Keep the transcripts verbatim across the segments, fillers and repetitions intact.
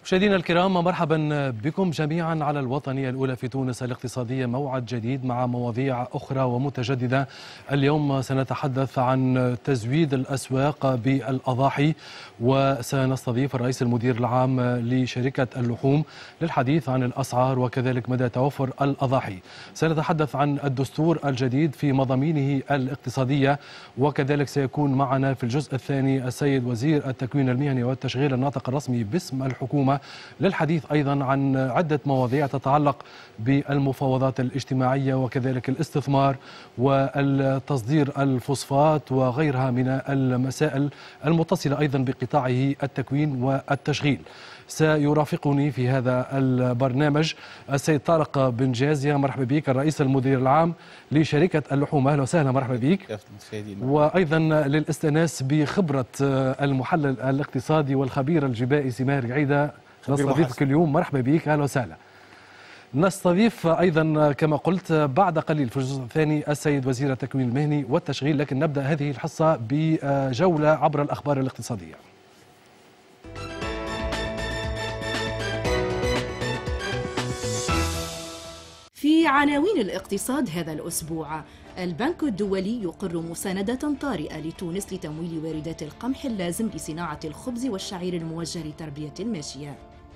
مشاهدينا الكرام، مرحبا بكم جميعا على الوطنية الأولى في تونس الاقتصادية. موعد جديد مع مواضيع أخرى ومتجددة. اليوم سنتحدث عن تزويد الأسواق بالأضاحي، وسنستضيف الرئيس المدير العام لشركة اللحوم للحديث عن الأسعار وكذلك مدى توفر الأضاحي. سنتحدث عن الدستور الجديد في مضامينه الاقتصادية، وكذلك سيكون معنا في الجزء الثاني السيد وزير التكوين المهني والتشغيل الناطق الرسمي باسم الحكومة للحديث أيضا عن عدة مواضيع تتعلق بالمفاوضات الاجتماعية وكذلك الاستثمار والتصدير الفوسفات وغيرها من المسائل المتصلة أيضا بقطاعه التكوين والتشغيل. سيرافقني في هذا البرنامج السيد طارق بن جازية، مرحبا بك، الرئيس المدير العام لشركة اللحوم. أهلا وسهلا، مرحبا بك. وأيضا للاستئناس بخبرة المحلل الاقتصادي والخبير الجبائي سماهر عيدة، نستضيفك اليوم، مرحبا بك، أهلا وسهلا. نستضيف أيضا كما قلت بعد قليل في الجزء الثاني السيد وزير التكوين المهني والتشغيل، لكن نبدأ هذه الحصة بجولة عبر الأخبار الاقتصادية. في عناوين الاقتصاد هذا الأسبوع: البنك الدولي يقر مساندة طارئة لتونس لتمويل واردات القمح اللازم لصناعة الخبز والشعير الموجه لتربية الماشية.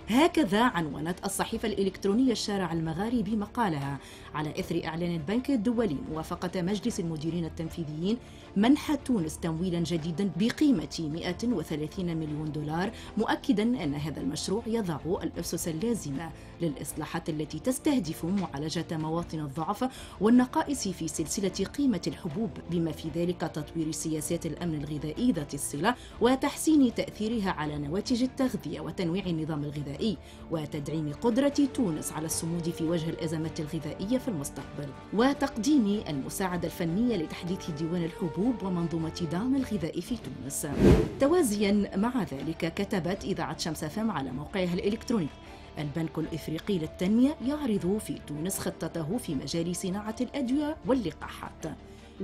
هكذا عنونت الصحيفة الإلكترونية الشارع المغاربي مقالها على إثر إعلان البنك الدولي موافقة مجلس المديرين التنفيذيين منح تونس تمويلا جديدا بقيمة مئة وثلاثين مليون دولار، مؤكدا أن هذا المشروع يضع الأسس اللازمة للإصلاحات التي تستهدف معالجة مواطن الضعف والنقائص في سلسلة قيمة الحبوب، بما في ذلك تطوير سياسات الأمن الغذائي ذات الصلة وتحسين تأثيرها على نواتج التغذية وتنويع النظام الغذائي وتدعيم قدرة تونس على الصمود في وجه الأزمات الغذائية في المستقبل، وتقديم المساعدة الفنية لتحديث ديوان الحبوب ومنظومة دعم الغذاء في تونس. توازيا مع ذلك، كتبت إذاعة شمس فم على موقعها الإلكتروني: البنك الإفريقي للتنمية يعرض في تونس خطته في مجال صناعة الأدوية واللقاحات.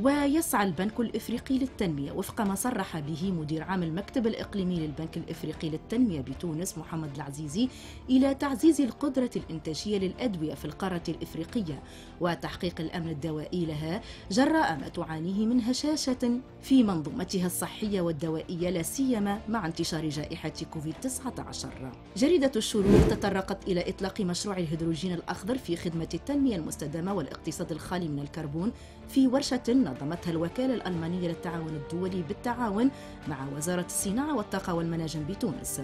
ويسعى البنك الإفريقي للتنمية وفق ما صرح به مدير عام المكتب الإقليمي للبنك الإفريقي للتنمية بتونس محمد العزيزي إلى تعزيز القدرة الإنتاجية للأدوية في القارة الإفريقية وتحقيق الأمن الدوائي لها جراء ما تعانيه من هشاشة في منظومتها الصحية والدوائية، لا سيما مع انتشار جائحة كوفيد تسعة عشر. جريدة الشروق تطرقت إلى إطلاق مشروع الهيدروجين الأخضر في خدمة التنمية المستدامة والاقتصاد الخالي من الكربون في ورشة نظمتها الوكالة الألمانية للتعاون الدولي بالتعاون مع وزارة الصناعة والطاقة والمناجم بتونس.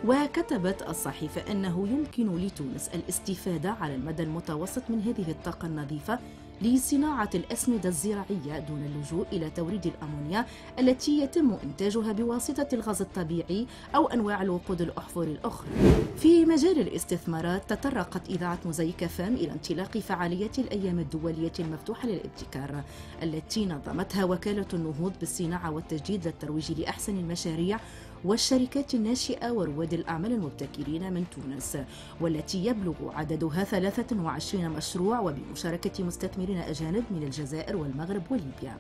وكتبت الصحيفة أنه يمكن لتونس الاستفادة على المدى المتوسط من هذه الطاقة النظيفة لصناعة الأسمدة الزراعية دون اللجوء إلى توريد الأمونيا التي يتم إنتاجها بواسطة الغاز الطبيعي أو أنواع الوقود الأحفوري الأخرى. في مجال الاستثمارات، تطرقت إذاعة موزايك فام إلى انطلاق فعاليات الأيام الدولية المفتوحة للابتكار التي نظمتها وكالة النهوض بالصناعة والتجديد للترويج لأحسن المشاريع والشركات الناشئة ورواد الأعمال المبتكرين من تونس، والتي يبلغ عددها ثلاثة وعشرين مشروع وبمشاركة مستثمرين أجانب من الجزائر والمغرب وليبيا.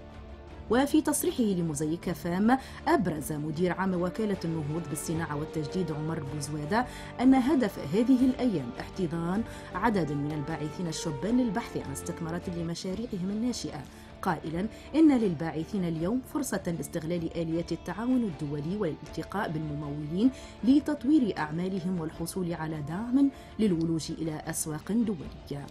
وفي تصريحه لموزايك فام، أبرز مدير عام وكالة النهوض بالصناعة والتجديد عمر بوزوادة أن هدف هذه الأيام احتضان عدد من الباعثين الشبان للبحث عن استثمارات لمشاريعهم الناشئة، قائلا إن للباعثين اليوم فرصة لاستغلال آليات التعاون الدولي والالتقاء بالممولين لتطوير أعمالهم والحصول على دعم للولوج إلى أسواق دولية.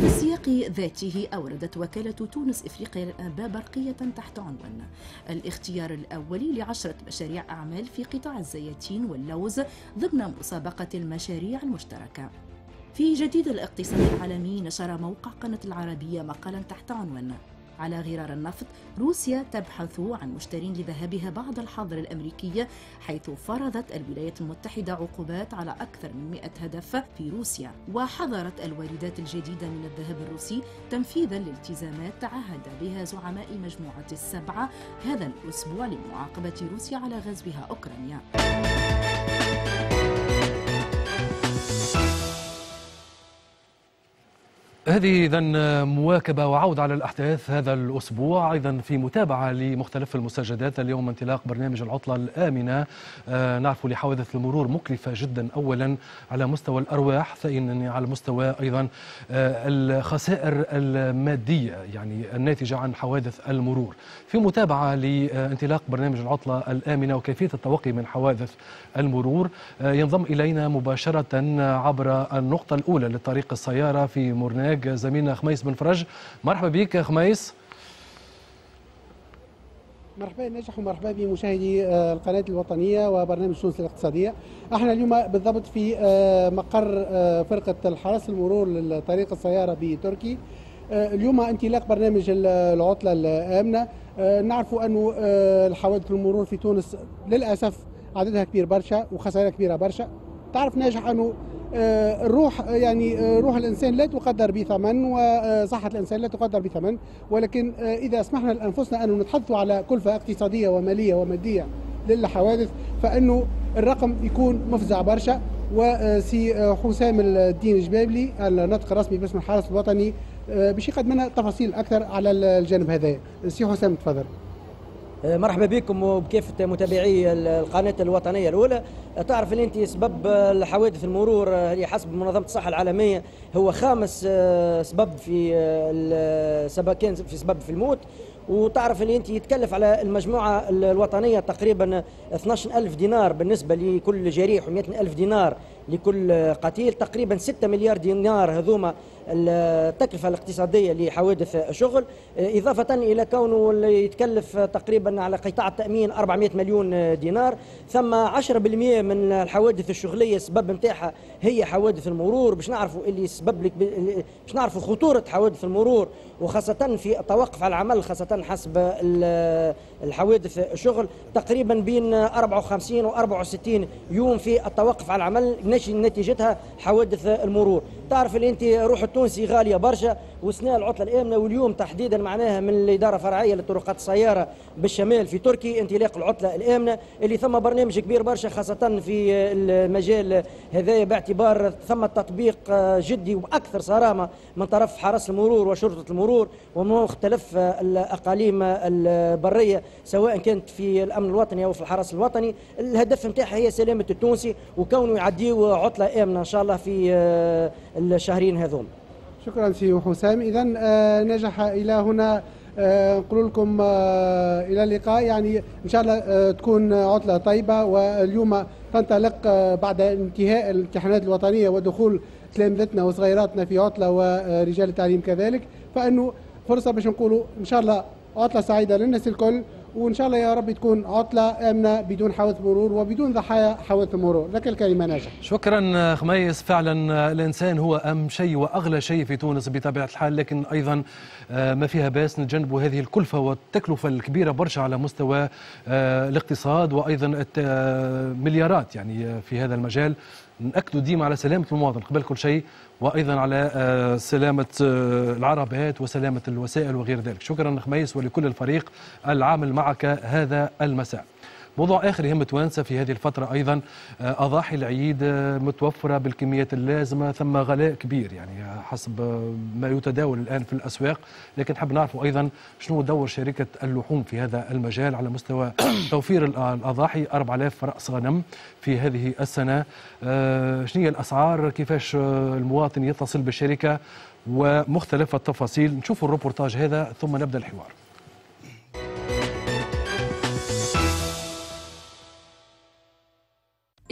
في السياق ذاته، أوردت وكالة تونس إفريقيا للأنباء برقية تحت عنوان الاختيار الأولي لعشرة مشاريع أعمال في قطاع الزيتين واللوز ضمن مسابقة المشاريع المشتركة. في جديد الاقتصاد العالمي، نشر موقع قناة العربية مقالا تحت عنوان على غرار النفط، روسيا تبحث عن مشترين لذهبها بعد الحظر الأمريكي، حيث فرضت الولايات المتحدة عقوبات على أكثر من مئة هدف في روسيا، وحظرت الواردات الجديدة من الذهب الروسي تنفيذا لالتزامات تعهد بها زعماء مجموعة السبعة هذا الأسبوع لمعاقبة روسيا على غزوها أوكرانيا. هذه إذن مواكبة وعودة على الأحداث هذا الأسبوع، أيضا في متابعة لمختلف المستجدات. اليوم انطلاق برنامج العطلة الآمنة. آه نعرف لحوادث المرور مكلفة جدا، أولا على مستوى الأرواح، ثانيا على مستوى أيضا آه الخسائر المادية يعني الناتجة عن حوادث المرور. في متابعة لانطلاق برنامج العطلة الآمنة وكيفية التوقي من حوادث المرور، آه ينضم إلينا مباشرة عبر النقطة الأولى لطريق السيارة في مرناق زميلنا خميس بن فرج. مرحبا بك خميس. مرحبا ناجح ومرحبا بمشاهدي القناة الوطنية وبرنامج تونس الاقتصادية. احنا اليوم بالضبط في مقر فرقة الحرس المرور لطريق السيارة بتركي. اليوم انطلاق برنامج العطلة الآمنة. نعرف أنه الحوادث المرور في تونس للأسف عددها كبير برشا وخسائرها كبيرة برشا. تعرف ناجح أنه الروح يعني روح الإنسان لا تقدر بثمن وصحة الإنسان لا تقدر بثمن، ولكن إذا سمحنا لأنفسنا أن نتحدث على كلفة اقتصادية ومالية ومادية للحوادث فإنه الرقم يكون مفزع برشا. وسي حسام الدين جبابلي الناطق الرسمي باسم الحرس الوطني باش يقدم لنا تفاصيل أكثر على الجانب هذا. سي حسام تفضل. مرحبا بكم وبكافة متابعي القناة الوطنية الأولى. تعرف ان انت سبب الحوادث المرور اللي حسب منظمة الصحة العالمية هو خامس سبب في سبب كان في سبب في الموت. وتعرف ان انت يتكلف على المجموعة الوطنية تقريبا اثناش ألف دينار بالنسبة لكل جريح ومئة ألف دينار لكل قتيل، تقريبا ستة مليار دينار هذوما التكلفة الاقتصادية لحوادث شغل، إضافة إلى كونه يتكلف تقريبا على قطاع التأمين أربعمئة مليون دينار. ثم عشرة بالمئة من الحوادث الشغلية السبب نتاعها هي حوادث المرور. باش نعرفوا اللي سبب لك باش نعرفوا خطورة حوادث المرور وخاصة في التوقف على العمل، خاصة حسب الحوادث الشغل تقريبا بين أربعة وخمسين و أربعة وستين يوم في التوقف على العمل نتيجتها حوادث المرور. تعرف اللي انت روح التونسي غالية برشا، وسنة العطلة الامنة واليوم تحديدا معناها من الادارة الفرعية للطرقات السيارة بالشمال في تركي انطلاق العطلة الامنة اللي ثم برنامج كبير برشا خاصة في المجال هذايا، باعتبار ثم تطبيق جدي واكثر صرامه من طرف حرس المرور وشرطه المرور ومختلف الاقاليم البرية سواء كانت في الامن الوطني او في الحرس الوطني. الهدف نتاعها هي سلامه التونسي وكونه يعديوا عطله امنه ان شاء الله في الشهرين هذوم. شكرا سي حسام. اذا نجح الى هنا، نقول لكم الى اللقاء. يعني ان شاء الله تكون عطله طيبة، واليوم تنطلق بعد انتهاء الامتحانات الوطنية ودخول تلامذتنا وصغيراتنا في عطله ورجال التعليم كذلك، فانه فرصة باش نقولوا ان شاء الله عطله سعيدة للناس الكل، وان شاء الله يا رب تكون عطله امنه بدون حوادث مرور وبدون ضحايا حوادث المرور. لك الكلمة ناجح. شكرا خميس. فعلا الانسان هو اهم شيء واغلى شيء في تونس بطبيعة الحال، لكن ايضا ما فيها باس نتجنبوا هذه الكلفة والتكلفه الكبيرة برشا على مستوى الاقتصاد وايضا مليارات يعني في هذا المجال. نأكدوا ديما على سلامة المواطن قبل كل شيء، وأيضا على سلامة العربات وسلامة الوسائل وغير ذلك. شكرا خميس ولكل الفريق العامل معك هذا المساء. موضوع آخر يهم توانسة في هذه الفترة أيضا، أضاحي العيد متوفرة بالكميات اللازمة، ثم غلاء كبير يعني حسب ما يتداول الآن في الأسواق، لكن حاب نعرفوا أيضا شنو دور شركة اللحوم في هذا المجال على مستوى توفير الأضاحي. أربعة آلاف رأس غنم في هذه السنة، شنو هي الأسعار، كيفاش المواطن يتصل بالشركة ومختلف التفاصيل. نشوفوا الروبورتاج هذا ثم نبدأ الحوار.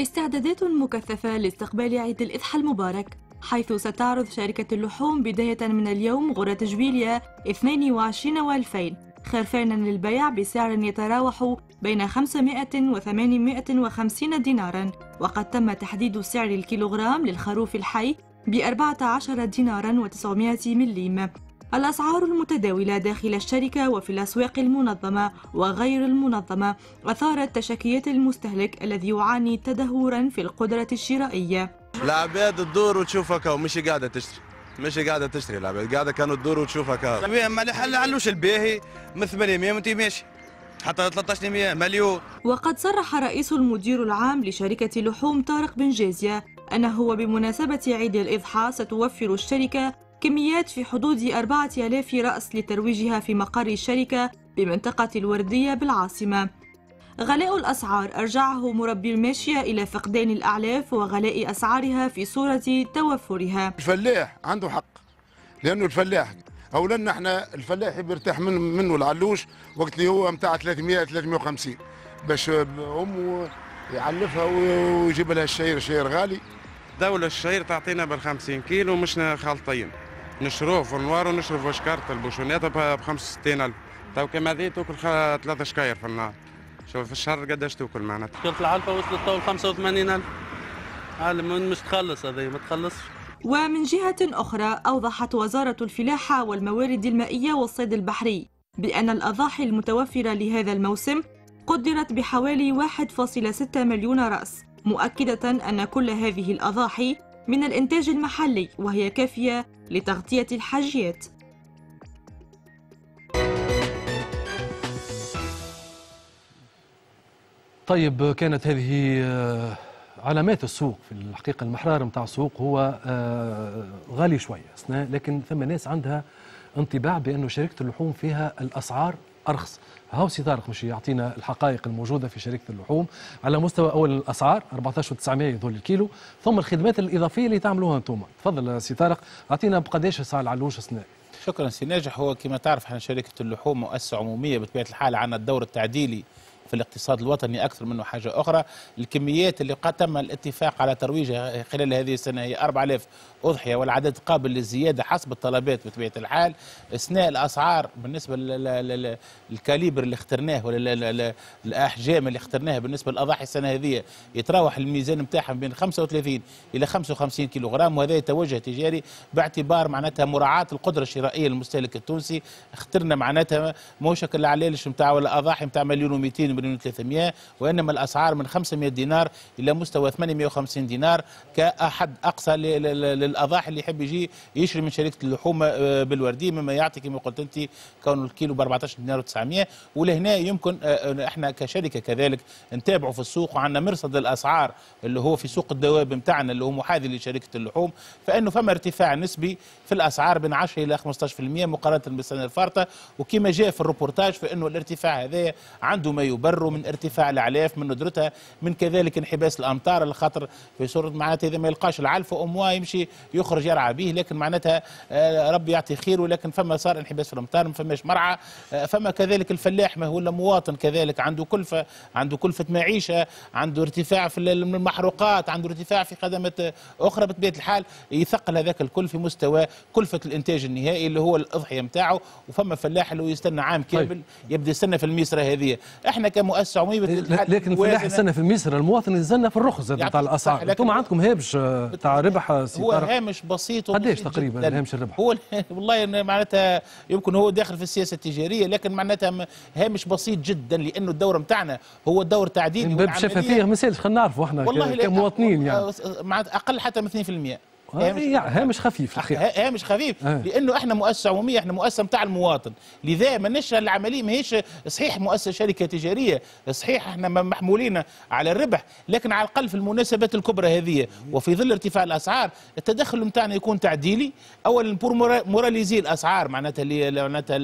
استعدادات مكثفة لاستقبال عيد الإضحى المبارك، حيث ستعرض شركة اللحوم بداية من اليوم غرة جويليا اثنين وعشرين وألفين خرفانا للبيع بسعر يتراوح بين خمسمائة وثمانمائة وخمسين دينارا، وقد تم تحديد سعر الكيلوغرام للخروف الحي بأربعة عشر دينارا وتسعمائة مليم. الأسعار المتداولة داخل الشركة وفي الأسواق المنظمة وغير المنظمة أثارت تشكيات المستهلك الذي يعاني تدهورا في القدرة الشرائية. العباد تدور وتشوفك ومش قاعدة تشتري، مش قاعدة تشتري، العباد قاعدة كانوا تدور وتشوفك. ما علوش الباهي من ثمانمائة وانت ماشي حتى ثلاثة عشر مليون. وقد صرح رئيس المدير العام لشركة لحوم طارق بن جازية أنه بمناسبة عيد الإضحى ستوفر الشركة كميات في حدود أربعة آلاف رأس لترويجها في مقر الشركة بمنطقة الوردية بالعاصمة. غلاء الأسعار أرجعه مربي الماشية إلى فقدان الأعلاف وغلاء أسعارها في صورة توفرها. الفلاح عنده حق، لأنه الفلاح أولا نحن الفلاح بيرتاح من منه العلوش وقت اللي هو نتاع ثلاثمية ثلاثمية وخمسين باش أمه يعلفها ويجيب لها الشعير، الشعير غالي. دولة الشعير تعطينا بالخمسين كيلو مش خالطين، نشروه في النوار ونشربوا شكارة البوشونات ب خمسة وستين ألف، تو كما ذي تاكل ثلاثة شكاير في النهار، شوف في الشهر قداش تاكل معناتها. شكارة العلفة وصلت تو خمسة وثمانين ألف، عالم مش تخلص هذه ما تخلصش. ومن جهة أخرى أوضحت وزارة الفلاحة والموارد المائية والصيد البحري بأن الأضاحي المتوفرة لهذا الموسم قدرت بحوالي واحد فاصلة ستة مليون رأس، مؤكدة أن كل هذه الأضاحي من الإنتاج المحلي وهي كافية لتغطية الحاجيات. طيب، كانت هذه علامات السوق. في الحقيقة المحرار متاع السوق هو غالي شوية، لكن ثم ناس عندها انطباع بأنه شركة اللحوم فيها الأسعار أرخص. هاو سي طارق مش يعطينا الحقائق الموجودة في شركة اللحوم على مستوى أول الأسعار أربعة عشر وتسعمية يظل الكيلو، ثم الخدمات الإضافية اللي تعملوها أنتم. تفضل سي طارق، أعطينا بقداش سعر العلوش سنة. شكرا سي ناجح. هو كما تعرف احنا شركة اللحوم مؤسسة عمومية بطبيعة الحال، عندنا الدور التعديلي في الاقتصاد الوطني أكثر منه حاجة أخرى. الكميات اللي قد تم الاتفاق على ترويجها خلال هذه السنة هي أربعة آلاف أضحية، والعدد قابل للزيادة حسب الطلبات بطبيعة الحال. أثناء الأسعار بالنسبة لل calibre اللي اخترناه ولا الأحجام اللي اخترناها بالنسبة للأضاحي السنة هذه يتراوح الميزان نتاعهم بين خمسة وثلاثين إلى خمسة وخمسين كيلوغرام، وهذا توجه تجاري باعتبار معناتها مراعاة القدرة الشرائية للمستهلك التونسي. اخترنا معناتها موش العلالش نتاع ولا أضاحي نتاع مليون ومئتين مليون وثلاثمية، وإنما الأسعار من خمسمية دينار إلى مستوى ثمانمية وخمسين دينار كأحد أقصى للأضاحي اللي يحب يجي يشري من شركة اللحوم بالوردية، مما يعطي كما قلت أنت كون الكيلو ب أربعة عشر دينار وتسعمية. ولهنا يمكن احنا كشركة كذلك نتابعوا في السوق، وعندنا مرصد الأسعار اللي هو في سوق الدواب نتاعنا اللي هو محاذي لشركة اللحوم، فإنه فما ارتفاع نسبي في الأسعار بين عشرة إلى خمسة عشر بالمية مقارنة بالسنة الفارطة. وكما جاء في الروبورتاج فإنه الارتفاع هذا عنده ما يبرر من ارتفاع الأعلاف، من ندرتها، من كذلك انحباس الأمطار، اللي خاطر في صورة معناتها إذا ما يلقاش العلف أموا يمشي يخرج يرعى به، لكن معناتها ربي يعطي خير، ولكن فما صار انحباس في الأمطار، ما فماش مرعى. فما كذلك الفلاح ما هو إلا مواطن كذلك عنده كلفة، عنده كلفة معيشة، عنده ارتفاع في المحروقات، عنده ارتفاع في خدمات أخرى. بطبيعة الحال يثقل هذاك الكل في مستوى كلفة الإنتاج النهائي اللي هو الأضحية نتاعه. وفما فلاح اللي يستنى عام كامل طيب. يبدا يستنى في الميسرة هذه. احنا كمؤسسة عمومية لكن الفلاح يستنى في الميسرة، المواطن يستنى في الرخص نتاع الأسعار. انتم عندكم هامش تاع ربح؟ هو هامش بسيط. قداش تقريبا هامش الربح؟ هو والله معناتها يمكن هو داخل في السياسة التجارية، لكن معناتها هامش بسيط جدا، لأنه الدور نتاعنا هو دور تعديلي. باب شفافية ما يسالش، خلينا نعرفوا احنا كمواطنين يعني معناتها أقل حتى من اثنين بالمية. هامش, هامش خفيف الحقيقة، هامش خفيف آه. لانه احنا مؤسسة عموميه، احنا مؤسسة نتاع المواطن، لذا ماناش العملية ماهيش صحيح مؤسسة شركة تجارية، صحيح احنا محمولين على الربح، لكن على الاقل في المناسبات الكبرى هذه وفي ظل ارتفاع الاسعار التدخل نتاعنا يكون تعديلي. اولا pour moraliser الاسعار، معناتها اللي معناتها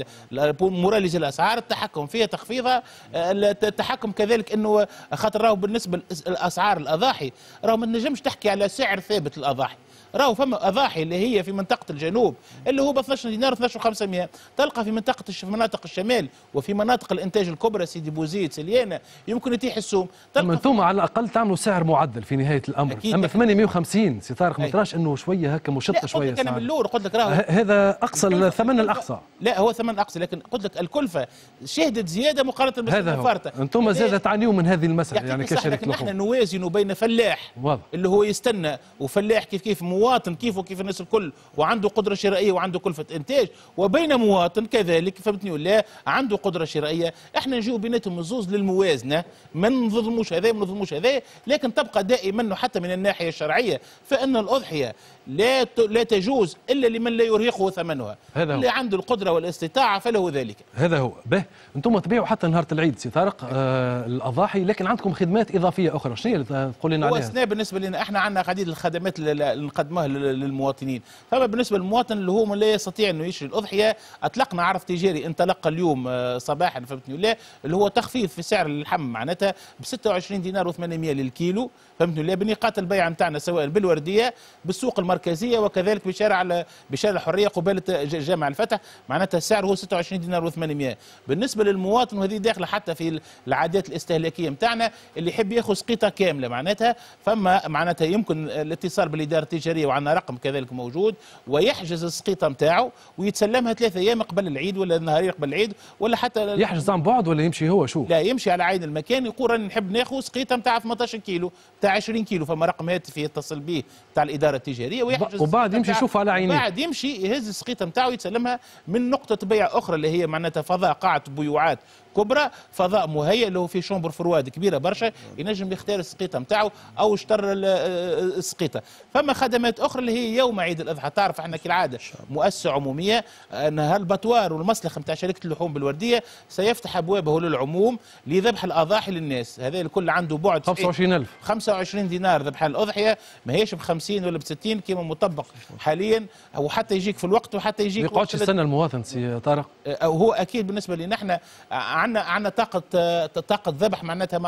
moraliser الاسعار، التحكم فيها، تخفيضها، التحكم كذلك انه خاطر راهو بالنسبة للاسعار الاضاحي راهو ما تنجمش تحكي على سعر ثابت للاضاحي. راهو فما اضاحي اللي هي في منطقة الجنوب اللي هو ب اثناش دينار اثناش وخمسمية، تلقى في منطقة في مناطق الشمال وفي مناطق الانتاج الكبرى سيدي بوزيد سليانه يمكن يتيح السوم. تلقى انتم على الاقل تعملوا سعر معدل في نهاية الامر. اما ثمانمية وخمسين سي طارق ما تراش انه شوية هكا مشطه شوية؟ قلت لك انا من الاول قلت لك راهو هذا اقصى الثمن الاقصى. لا هو ثمن اقصى، لكن قلت لك الكلفة شهدت زيادة مقارنة بالسنة الفارطه. انتم زاد تعانيوا من هذه المسالة يعني كشركة لحوم. نحن نوازن بين فلاح واضح اللي هو يستنى، وفلاح كيف كيف مواطن كيف وكيف الناس الكل وعنده قدرة شرائية وعنده كلفة إنتاج، وبين مواطن كذلك فهمتني ولا عنده قدرة شرائية. احنا نجيو بيناتهم الزوز للموازنة، ما نظلموش هذا ما نظلموش هذا، لكن تبقى دائما حتى من الناحية الشرعية فإن الأضحية لا لا تجوز الا لمن لا يرهقه ثمنها. هذا هو. اللي عنده القدرة والاستطاعة فله ذلك. هذا هو. به انتم تبيعوا حتى نهار العيد سي طارق آه الاضاحي، لكن عندكم خدمات اضافية اخرى، شنو هي اللي تقول لنا عليها؟ هو سنا بالنسبة لنا احنا عندنا عديد الخدمات اللي نقدمها للمواطنين. فما بالنسبة للمواطن اللي هو لا يستطيع انه يشتري الاضحية، اطلقنا عرض تجاري انطلق اليوم صباحا فهمتني ولا، اللي هو تخفيض في سعر اللحم معناتها ب ستة وعشرين دينار وثمانمئة للكيلو فهمتني ولا، بنقاط البيع نتاعنا سواء بالورديه بالسوق المركزية وكذلك بشارع بشارع الحرية قباله جامع الفتح، معناتها السعر هو ستة وعشرين دينار وثمانمئة. بالنسبة للمواطن وهذه داخله حتى في العادات الاستهلاكية نتاعنا اللي يحب ياخذ سقيطه كاملة معناتها، فما معناتها يمكن الاتصال بالادارة التجارية وعندنا رقم كذلك موجود، ويحجز السقيطه نتاعو ويتسلمها ثلاثة ايام قبل العيد ولا نهارين قبل العيد ولا حتى يحجز عن بعد ولا يمشي هو شو؟ لا يمشي على عين المكان، يقول راني نحب ناخذ سقيطه نتاع ثمنطاش كيلو نتاع عشرين كيلو، فما رقم هاتفي يتصل به نتاع الادارة التجارية ويحجز، وبعد يمشي يشوف على عينيه، بعد يمشي يهز السقيطه نتاعو يتسلمها من نقطة بيع اخرى اللي هي معناتها فضاء قاعة بيوعات كبرى، فضاء مهيئ له في chambre froide كبيرة برشا، ينجم يختار السقيطه نتاعو او اشتر السقيطه. فما خدمات اخرى اللي هي يوم عيد الاضحى، تعرف احنا كالعادة مؤسسة عموميه ان ال abattoir والمسلخ نتاع شركة اللحوم بالورديه سيفتح ابوابه للعموم لذبح الاضاحي للناس، هذا الكل عنده بعد خمسة وعشرين ألف خمسة وعشرين دينار ذبح الاضحية، ما هيش ب خمسين ولا ب ستين كما مطبق حاليا، او حتى يجيك في الوقت وحتى يجيك ما يقعدش يستنى المواطن سي طارق. هو اكيد بالنسبة لنا احنا عندنا عندنا طاقة طاقة ذبح معناتها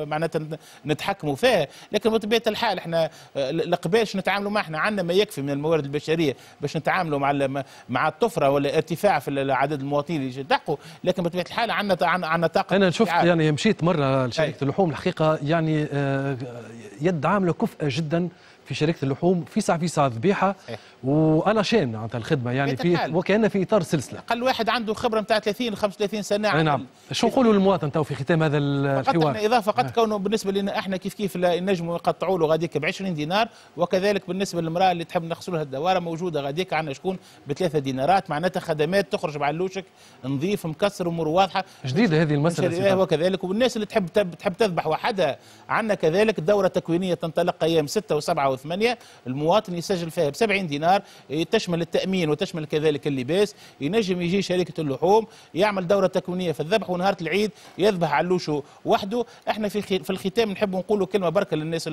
معناتها نتحكموا فيها، لكن بطبيعة الحال احنا القباش نتعاملوا معه، احنا عندنا ما يكفي من الموارد البشرية باش نتعاملوا مع مع الطفرة ولا ارتفاع في عدد المواطنين اللي يلتحقوا، لكن بطبيعة الحال عندنا عندنا طاقة. انا شفت يعني مشيت مرة لشركة اللحوم الحقيقة يعني يد عامله كفءه جدا في شركة اللحوم، في ساعة في ساعة ذبيحة والاشان معناتها الخدمة يعني في وكأن في اطار سلسلة. اقل واحد عنده خبره نتاع ثلاثين خمسة وثلاثين سنة. نعم. شو نقولوا للمواطن تو في ختام هذا الحوار؟ احنا اضافه فقط كونه بالنسبة لنا احنا كيف كيف نجموا يقطعوا له غاديك ب عشرين دينار، وكذلك بالنسبة للمراة اللي تحب نغسلوا لها الدواره موجودة غاديك عندنا شكون بثلاثة دينارات، معناتها خدمات تخرج مع اللوشك نظيف مكسر امور واضحة. جديدة هذه المسالة. وكذلك والناس اللي تحب تحب تذبح وحدها عندنا كذلك دوره تكوينيه تنطلق ايام ستة وسبعة وثمانية، المواطن يسجل فيها ب سبعين دينار، تشمل التأمين وتشمل كذلك اللباس، ينجم يجي شركة اللحوم يعمل دورة تكوينية في الذبح، ونهار العيد يذبح علوشه وحده. احنا في في الختام نحب نقولوا كلمة بركة للناس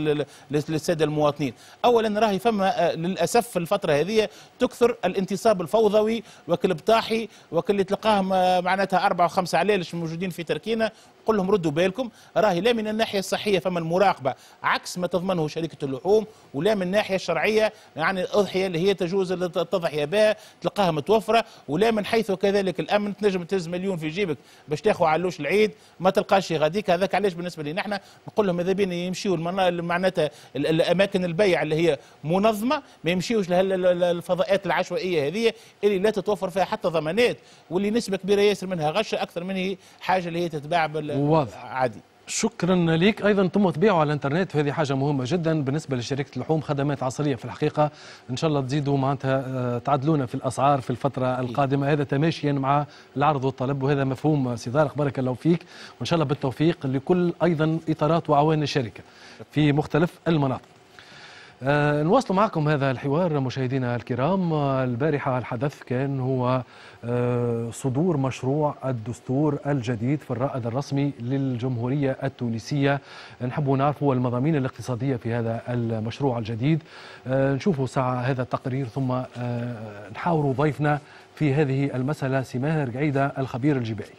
للسادة المواطنين. أولا راهي فما للأسف في الفترة هذه تكثر الانتصاب الفوضوي وكل بطاحي وكل اللي تلقاهم معناتها أربعة وخمسة علالش موجودين في تركينة، قل لهم ردوا بالكم، راهي لا من الناحية الصحية فما المراقبة عكس ما تضمنه شركة اللحوم، ولا من الناحية الشرعية يعني الأضحية اللي هي تجوز التضحية بها تلقاها متوفرة، ولا من حيث كذلك الأمن تنجم تهز مليون في جيبك باش تاخذ علوش العيد ما تلقاش غاديك. هذاك علاش بالنسبة لنا احنا نقول لهم ماذا بينا يمشيوا معناتها الأماكن البيع اللي هي منظمة، ما يمشيوش للفضاءات العشوائية هذه اللي لا تتوفر فيها حتى ضمانات، واللي نسبة كبيرة ياسر منها غشة أكثر من هي حاجة اللي هي تتباع بال واضح عادي. شكرا لك. ايضا ثم تبيعوا على الانترنت، وهذه حاجة مهمة جدا بالنسبة لشركة اللحوم، خدمات عصرية في الحقيقة، ان شاء الله تزيدوا معناتها تعدلونا في الاسعار في الفترة القادمة، هذا تماشيا مع العرض والطلب، وهذا مفهوم سي طارق، بارك الله فيك، وان شاء الله بالتوفيق لكل ايضا اطارات وعوان الشركة في مختلف المناطق. أه نواصل معكم هذا الحوار مشاهدينا الكرام. البارحة الحدث كان هو أه صدور مشروع الدستور الجديد في الرائد الرسمي للجمهورية التونسية. نحب نعرف المضامين الاقتصادية في هذا المشروع الجديد. أه نشوفوا ساعة هذا التقرير ثم أه نحاور ضيفنا في هذه المسألة سي ماهر قعيدة الخبير الجبائي.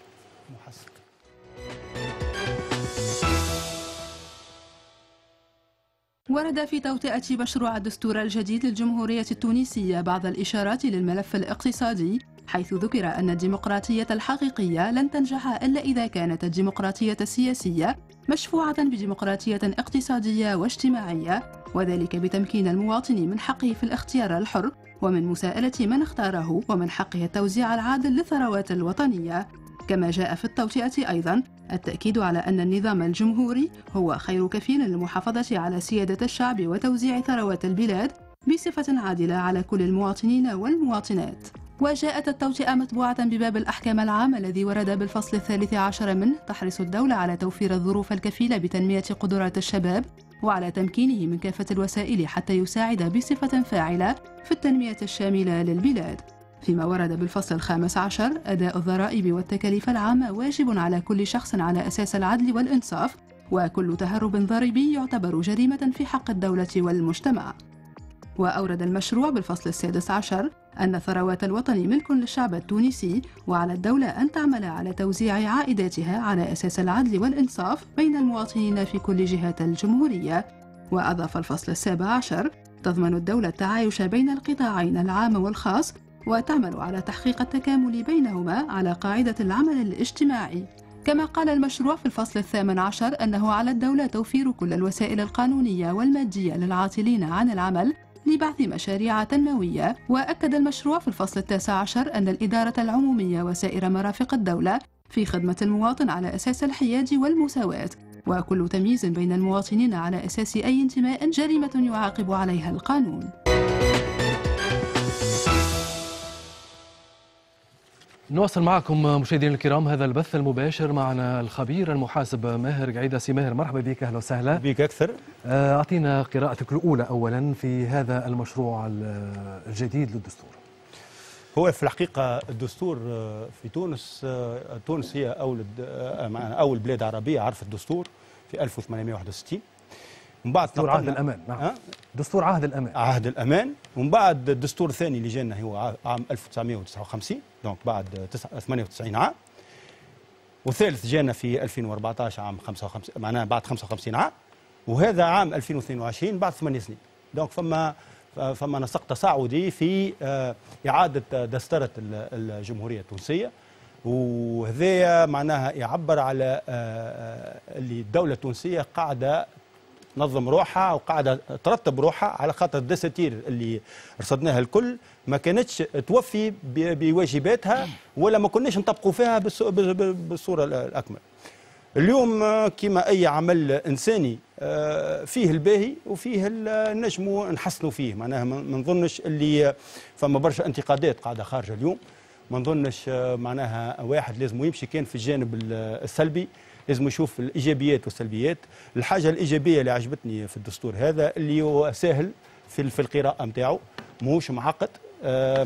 ورد في توطئة مشروع الدستور الجديد للجمهورية التونسية بعض الإشارات للملف الاقتصادي، حيث ذكر أن الديمقراطية الحقيقية لن تنجح إلا إذا كانت الديمقراطية السياسية مشفوعة بديمقراطية اقتصادية واجتماعية، وذلك بتمكين المواطن من حقه في الاختيار الحر ومن مساءلة من اختاره ومن حقه التوزيع العادل للثروات الوطنية. كما جاء في التوطئة أيضا التأكيد على أن النظام الجمهوري هو خير كفيل للمحافظة على سيادة الشعب وتوزيع ثروات البلاد بصفة عادلة على كل المواطنين والمواطنات. وجاءت التوطئة متبوعة بباب الأحكام العام الذي ورد بالفصل الثالث عشر منه تحرص الدولة على توفير الظروف الكفيلة بتنمية قدرات الشباب وعلى تمكينه من كافة الوسائل حتى يساعد بصفة فاعلة في التنمية الشاملة للبلاد. فيما ورد بالفصل الخامس عشر أداء الضرائب والتكاليف العامة واجب على كل شخص على أساس العدل والإنصاف، وكل تهرب ضريبي يعتبر جريمة في حق الدولة والمجتمع. وأورد المشروع بالفصل السادس عشر أن ثروات الوطن ملك للشعب التونسي، وعلى الدولة أن تعمل على توزيع عائداتها على أساس العدل والإنصاف بين المواطنين في كل جهات الجمهورية. وأضاف الفصل السابع عشر تضمن الدولة التعايش بين القطاعين العام والخاص، وتعمل على تحقيق التكامل بينهما على قاعدة العمل الاجتماعي. كما قال المشروع في الفصل الثامن عشر أنه على الدولة توفير كل الوسائل القانونية والمادية للعاطلين عن العمل لبعث مشاريع تنموية. وأكد المشروع في الفصل التاسع عشر أن الإدارة العمومية وسائر مرافق الدولة في خدمة المواطن على أساس الحياد والمساواة، وكل تمييز بين المواطنين على أساس أي انتماء جريمة يعاقب عليها القانون. نواصل معكم مشاهدينا الكرام هذا البث المباشر. معنا الخبير المحاسب ماهر قعيدة. سي ماهر مرحبا بك، اهلا وسهلا بك. اكثر اعطينا قراءتك الاولى اولا في هذا المشروع الجديد للدستور. هو في الحقيقة الدستور في تونس، تونس هي اول اول بلاد عربية عرفت الدستور في ألف وثمانمئة وواحد وستين. من بعد دستور عهد الامان. نعم، دستور عهد الامان. عهد الامان. ومن بعد الدستور الثاني اللي جانا هو عام ألف وتسعمئة وتسعة وخمسين، donc بعد ثمانية وتسعين عام. وثالث جانا في ألفين وأربعة عشر عام خمسة وخمسين، معناها بعد خمسة وخمسين عام. وهذا عام ألفين واثنين وعشرين بعد ثمانية سنين. donc فما فما نسق تصاعدي في اعاده دستره الجمهورية التونسية، وهذا معناها يعبر على اللي الدولة التونسية قاعدة تنظم روحها وقاعدة ترتب روحها، على خاطر الدساتير اللي رصدناها الكل ما كانتش توفي بواجباتها ولا ما كناش نطبقوا فيها بالصورة الاكمل. اليوم كما اي عمل انساني فيه الباهي وفيه نجموا نحسنوا فيه، معناها ما نظنش اللي فما برشا انتقادات قاعدة خارجه اليوم، ما نظنش معناها واحد لازم يمشي كان في الجانب السلبي، لازم يشوف الايجابيات والسلبيات. الحاجة الايجابية اللي عجبتني في الدستور هذا اللي هو سهل في في القراءة نتاعو، ماهوش معقد،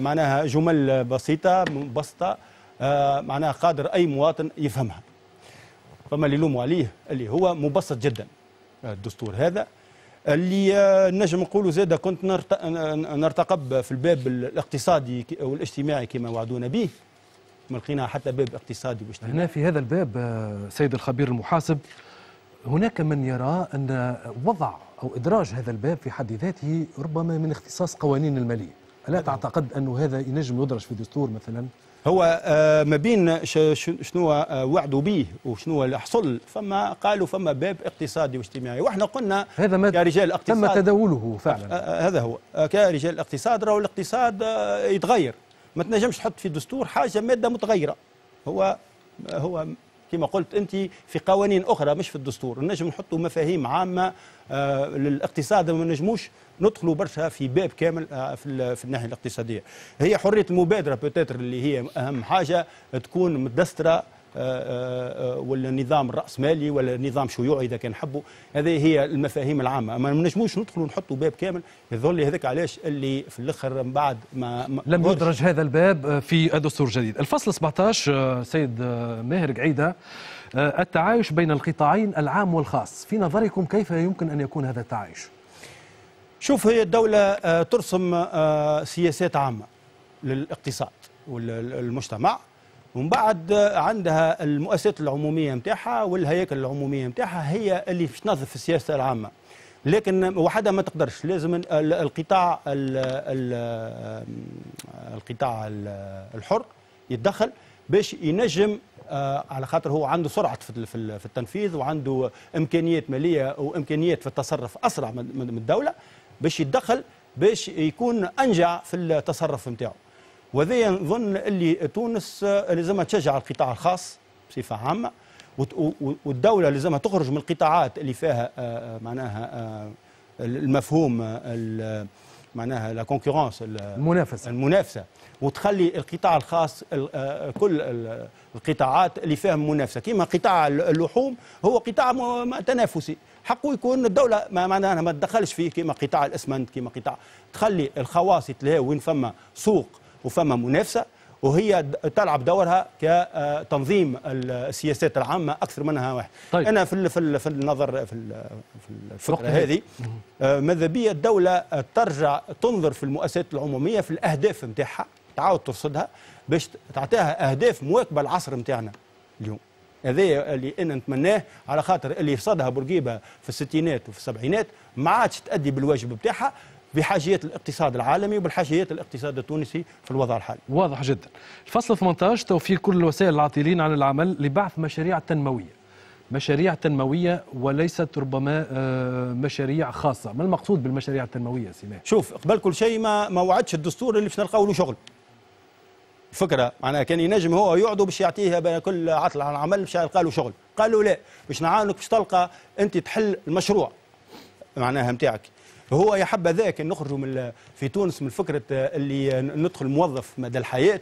معناها جمل بسيطة مبسطة، معناها قادر اي مواطن يفهمها. فما اللي يلوموا عليه اللي هو مبسط جدا الدستور هذا، اللي نجم نقولوا زاده كنت نرتقب في الباب الاقتصادي والاجتماعي كما وعدونا به، ما لقينا حتى باب اقتصادي واجتماعي. هنا في هذا الباب سيد الخبير المحاسب، هناك من يرى أن وضع أو إدراج هذا الباب في حد ذاته ربما من اختصاص قوانين المالية، ألا تعتقد أن هذا ينجم يدرج في الدستور مثلا؟ هو ما بين شنو وعدوا به وشنو اللي حصل، فما قالوا فما باب اقتصادي واجتماعي، واحنا قلنا هذا ما كرجال الاقتصاد تم تداوله فعلا. هذا هو كرجال الاقتصاد، راهو الاقتصاد يتغير، ما تنجمش تحط في دستور حاجة مادة متغيرة. هو هو كما قلت انت في قوانين اخرى مش في الدستور، نجم نحطوا مفاهيم عامة للاقتصاد، ما نجموش ندخلوا برشا في باب كامل في في الناحية الاقتصادية. هي حرية المبادرة peut-être اللي هي اهم حاجة تكون متدستره، ولا نظام الراسمالي ولا نظام شيوعي اذا كان حبوا، هذه هي المفاهيم العامة، ما نجموش ندخلوا نحطوا باب كامل. يظل لي هذاك علاش اللي في الاخر من بعد ما, ما لم يدرج هذا الباب في الدستور الجديد. الفصل سبعة عشر سيد ماهر قعيده، التعايش بين القطاعين العام والخاص، في نظركم كيف يمكن ان يكون هذا التعايش؟ شوف، هي الدولة ترسم سياسات عامة للاقتصاد والمجتمع، ومن بعد عندها المؤسسات العمومية نتاعها والهياكل العمومية نتاعها هي اللي تنظف في السياسة العامة، لكن وحدها ما تقدرش، لازم القطاع القطاع الحر يتدخل باش ينجم، على خاطر هو عنده سرعة في التنفيذ وعنده امكانيات ماليه وامكانيات في التصرف اسرع من الدولة، باش يتدخل باش يكون انجع في التصرف نتاعو. وهذا نظن اللي تونس لازمها تشجع القطاع الخاص بصفة عامة، والدولة لازمها تخرج من القطاعات اللي فيها معناها المفهوم معناها la concurrence، المنافسة المنافسة وتخلي القطاع الخاص كل القطاعات اللي فيها منافسه، كما قطاع اللحوم هو قطاع تنافسي، حقه يكون الدولة ما معناها ما تدخلش فيه، كما قطاع الاسمنت، كما قطاع، تخلي الخواص يتلهوا وين فما سوق وفما منافسه، وهي تلعب دورها كتنظيم السياسات العامة اكثر منها واحد. طيب. انا في في النظر في الفكرة هذه ماذا بيا الدولة ترجع تنظر في المؤسسات العمومية في الاهداف نتاعها، تعاود ترصدها باش تعطيها اهداف مواكبة العصر نتاعنا اليوم. هذا اللي انا نتمناه، على خاطر اللي رصدها بورقيبة في الستينات وفي السبعينات ما عادش تأدي بالواجب بتاعها بحاجيات الاقتصاد العالمي وبالحاجيات الاقتصاد التونسي في الوضع الحالي. واضح جدا. الفصل ثمانية عشر توفير كل الوسائل العاطلين عن العمل لبعث مشاريع تنموية. مشاريع تنموية وليست ربما مشاريع خاصة، ما المقصود بالمشاريع التنموية سي ماهر؟ شوف، قبل كل شيء ما ما وعدش الدستور اللي باش نلقاو له شغل. فكرة معناها كان ينجم هو يقعدوا باش يعطيه كل عطل عن العمل باش يلقى له شغل، قالوا لا، باش نعاونك باش تلقى انت تحل المشروع معناها نتاعك. هو يا حبذا ذاك نخرجوا من في تونس من فكرة اللي ندخل موظف مدى الحياة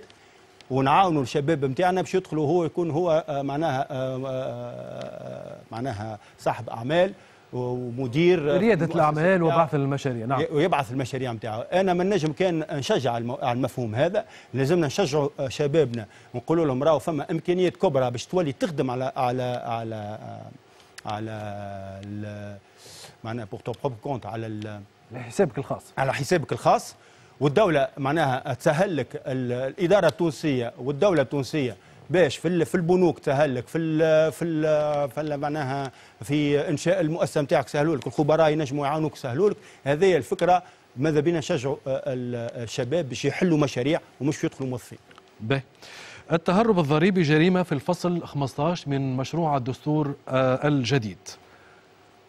ونعاونوا الشباب نتاعنا باش يدخلوا هو يكون هو معناها معناها صاحب اعمال ومدير رياده الاعمال وبعث المشاريع. نعم، ويبعث المشاريع نتاعو. انا ما نجم كان نشجع على المفهوم هذا، لازمنا نشجعوا شبابنا ونقولوا لهم راهو فما امكانيات كبرى باش تولي تخدم على على على على معناها pour ton propre compte، على حسابك الخاص، على حسابك الخاص، والدولة معناها تسهل لك الادارة التونسية والدولة التونسية باش في في البنوك تسهل لك في ال في ال في معناها في انشاء المؤسسة نتاعك سهلوا لك، الخبراء ينجموا يعاونوك سهلوا لك. هذه الفكرة، ماذا بينا نشجعوا الشباب باش يحلوا مشاريع ومش يدخلوا موظفين. باهي. التهرب الضريبي جريمة في الفصل خمسة عشر من مشروع الدستور الجديد.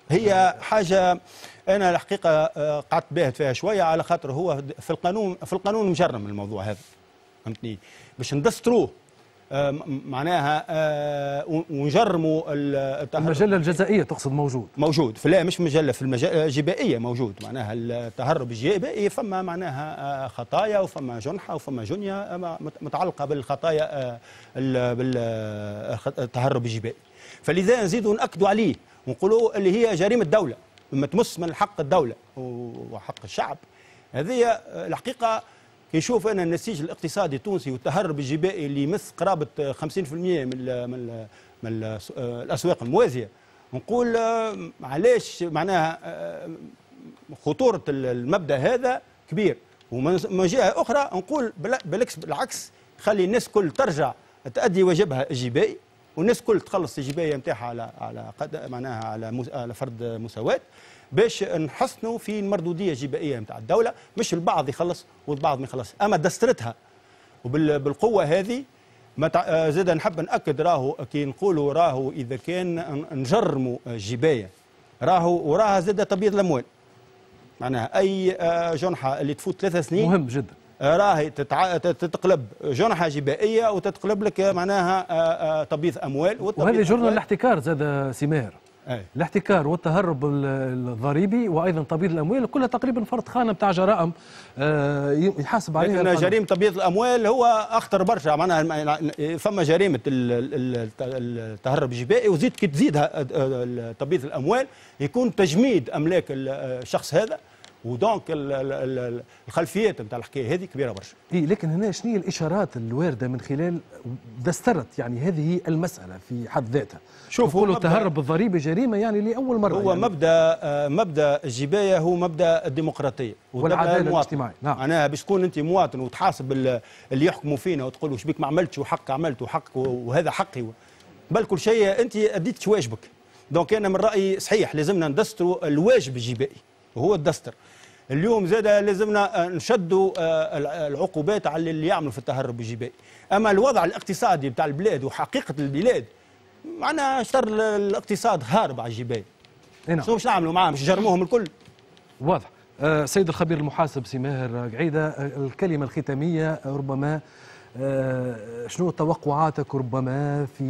هي حاجة انا الحقيقة قعدت باهت فيها شوية، على خاطر هو في القانون في القانون مجرم الموضوع هذا، فهمتني؟ باش ندستروه معناها ونجرموا المجلة الجزائيه تقصد موجود؟ موجود، لا مش مجلة، في المجلة الجبائيه موجود، معناها التهرب الجبائي فما معناها خطايا وفما جنحه وفما جنيه متعلقه بالخطايا بالتهرب الجبائي، فلذا نزيدوا ناكدوا عليه ونقولوا اللي هي جريمة دولة، ما تمس من حق الدولة وحق الشعب. هذه الحقيقة كيشوف انا النسيج الاقتصادي التونسي والتهرب الجبائي اللي يمس قرابة خمسين بالمئة من ال من ال من الاسواق الموازيه، نقول علاش معناها خطورة المبدا هذا كبير. ومن جهة اخرى نقول بالعكس بالعكس خلي الناس كل ترجع تؤدي واجبها الجبائي، والناس كل تخلص الجبايه نتاعها على على قد معناها على على فرض مساواة، باش نحسنوا في المردوديه الجبائيه نتاع الدولة، مش البعض يخلص والبعض ما يخلص. اما دسترتها وبالقوة هذه ما زاد نحب ناكد راهو كي نقولوا راهو اذا كان نجرموا الجبايه راهو وراها زاد تبييض الاموال، معناها اي جنحه اللي تفوت ثلاث سنين مهم جدا راهي تتع... تتقلب جنحه جبائيه وتتقلب لك معناها تبييض اموال. وهذه جرم الاحتكار زاد سي ماهر. أي. الاحتكار والتهرب الضريبي وايضا تبييض الاموال كلها تقريبا فرد خانه بتاع جرائم يحاسب عليها. لكن جريمة تبييض الاموال هو اخطر برشا، معناها فما جريمة التهرب الجبائي وزيد كي تزيدها تبييض الاموال يكون تجميد املاك الشخص هذا، و donc الخلفيات نتاع الحكاية هذه كبيرة برشا. إيه لكن هنا شنو هي الاشارات الواردة من خلال دسترت يعني هذه المسالة في حد ذاتها؟ شوف، هو التهرب الضريبي جريمة يعني لاول مرة. هو يعني مبدا مبدا الجبايه هو مبدا الديمقراطية والعدالة الاجتماعية. نعم، معناها باش تكون انت مواطن وتحاسب اللي يحكموا فينا وتقول وش بيك ما عملتش وحق عملت وحق وهذا حقي، بل كل شيء انت اديت واجبك. donc انا من رايي صحيح لازمنا ندستروا الواجب الجبائي وهو الدستر. اليوم زاد لازمنا نشدوا العقوبات على اللي يعملوا في التهرب الجبائي. اما الوضع الاقتصادي بتاع البلاد وحقيقة البلاد معناها شطر الاقتصاد هارب على الجبايه. نعم. شنو باش نعملوا معاهم؟ باش نجرموهم الكل؟ واضح. أه سيد الخبير المحاسب سي ماهر قعيده، الكلمة الختامية ربما أه شنو توقعاتك ربما في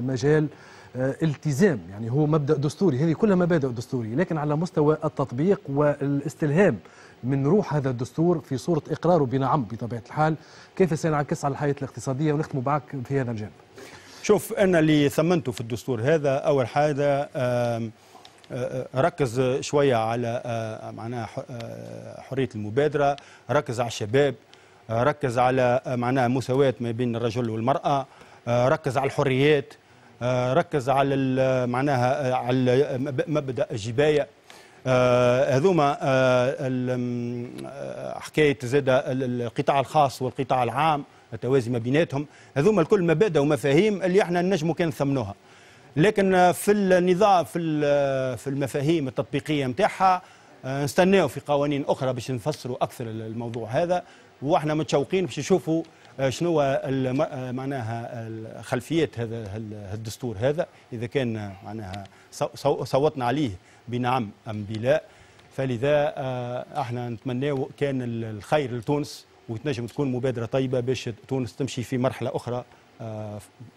مجال التزام، يعني هو مبدأ دستوري، هذه كلها مبادئ دستورية، لكن على مستوى التطبيق والاستلهام من روح هذا الدستور في صورة إقراره بنعم بطبيعة الحال، كيف سينعكس على الحياة الاقتصادية؟ ونختم معك في هذا الجانب. شوف، أنا اللي ثمنته في الدستور هذا أول حاجة ركز شوية على معناها حرية المبادرة، ركز على الشباب، ركز على معناها مساواة ما بين الرجل والمرأة، ركز على الحريات، ركز على معناها على مبدأ الجباية. هذوما حكاية زاد القطاع الخاص والقطاع العام، التوازي ما بيناتهم، هذوما الكل مبادئ ومفاهيم اللي احنا نجموا كان نثمنوها. لكن في النظام في في المفاهيم التطبيقية نتاعها نستناو في قوانين اخرى باش نفسروا اكثر الموضوع هذا، واحنا متشوقين باش نشوفوا شنو معناها خلفيات هذا الدستور هذا، اذا كان معناها صوتنا عليه بنعم ام بلا. فلذا احنا نتمناو كان الخير لتونس، وتنجم تكون مبادرة طيبة باش تونس تمشي في مرحلة اخرى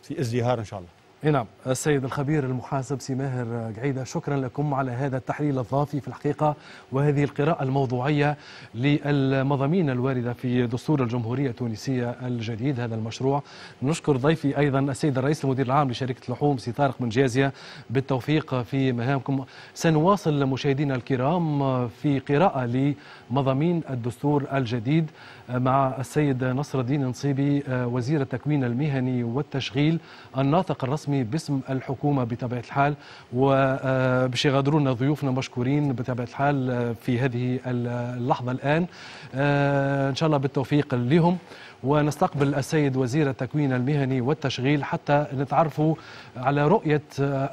في ازدهار ان شاء الله. نعم، السيد الخبير المحاسب سي ماهر قعيدة، شكرا لكم على هذا التحليل الضافي في الحقيقة وهذه القراءة الموضوعية للمضامين الواردة في دستور الجمهورية التونسية الجديد هذا المشروع. نشكر ضيفي أيضا السيد الرئيس المدير العام لشركة اللحوم سي طارق بن جازية، بالتوفيق في مهامكم. سنواصل مشاهدينا الكرام في قراءة لمضامين الدستور الجديد مع السيد نصر الدين نصيبي وزير التكوين المهني والتشغيل الناطق الرسمي باسم الحكومة بطبيعة الحال، وباش يغادرونا ضيوفنا مشكورين بطبيعة الحال في هذه اللحظة الآن، إن شاء الله بالتوفيق لهم. ونستقبل السيد وزير التكوين المهني والتشغيل حتى نتعرفوا على رؤية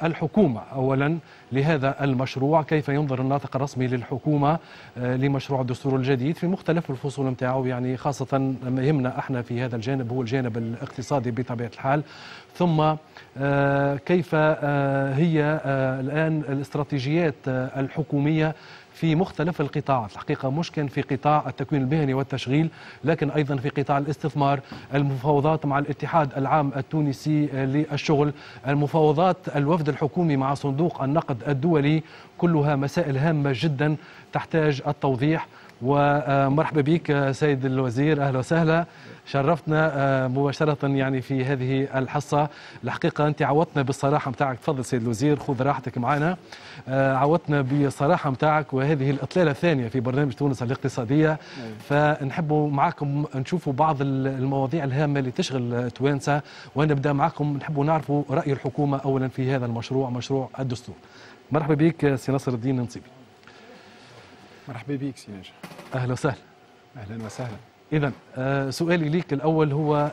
الحكومة أولا لهذا المشروع، كيف ينظر الناطق الرسمي للحكومة لمشروع الدستور الجديد في مختلف الفصول نتاعو، يعني خاصة ما يهمنا احنا في هذا الجانب هو الجانب الاقتصادي بطبيعة الحال، ثم كيف هي الآن الاستراتيجيات الحكومية في مختلف القطاعات، الحقيقة مش كان في قطاع التكوين المهني والتشغيل لكن أيضا في قطاع الاستثمار، المفاوضات مع الاتحاد العام التونسي للشغل، المفاوضات الوفد الحكومي مع صندوق النقد الدولي، كلها مسائل هامة جدا تحتاج التوضيح. ومرحبا بك سيد الوزير، أهلا وسهلا، شرفتنا مباشرة يعني في هذه الحصة. الحقيقة أنت عودتنا بالصراحة متاعك، تفضل سيد الوزير خذ راحتك معنا، عودتنا بالصراحة متاعك وهذه الإطلالة الثانية في برنامج تونس الاقتصادية، فنحبوا معكم نشوفوا بعض المواضيع الهامة اللي تشغل توانسة، ونبدأ معكم نحبوا نعرفوا رأي الحكومة أولا في هذا المشروع، مشروع الدستور. مرحبا بك سي نصر الدين نصيبي. مرحبا بك سي ناجح. أهلا وسهلا. أهلا وسهلا. إذا سؤالي ليك الأول هو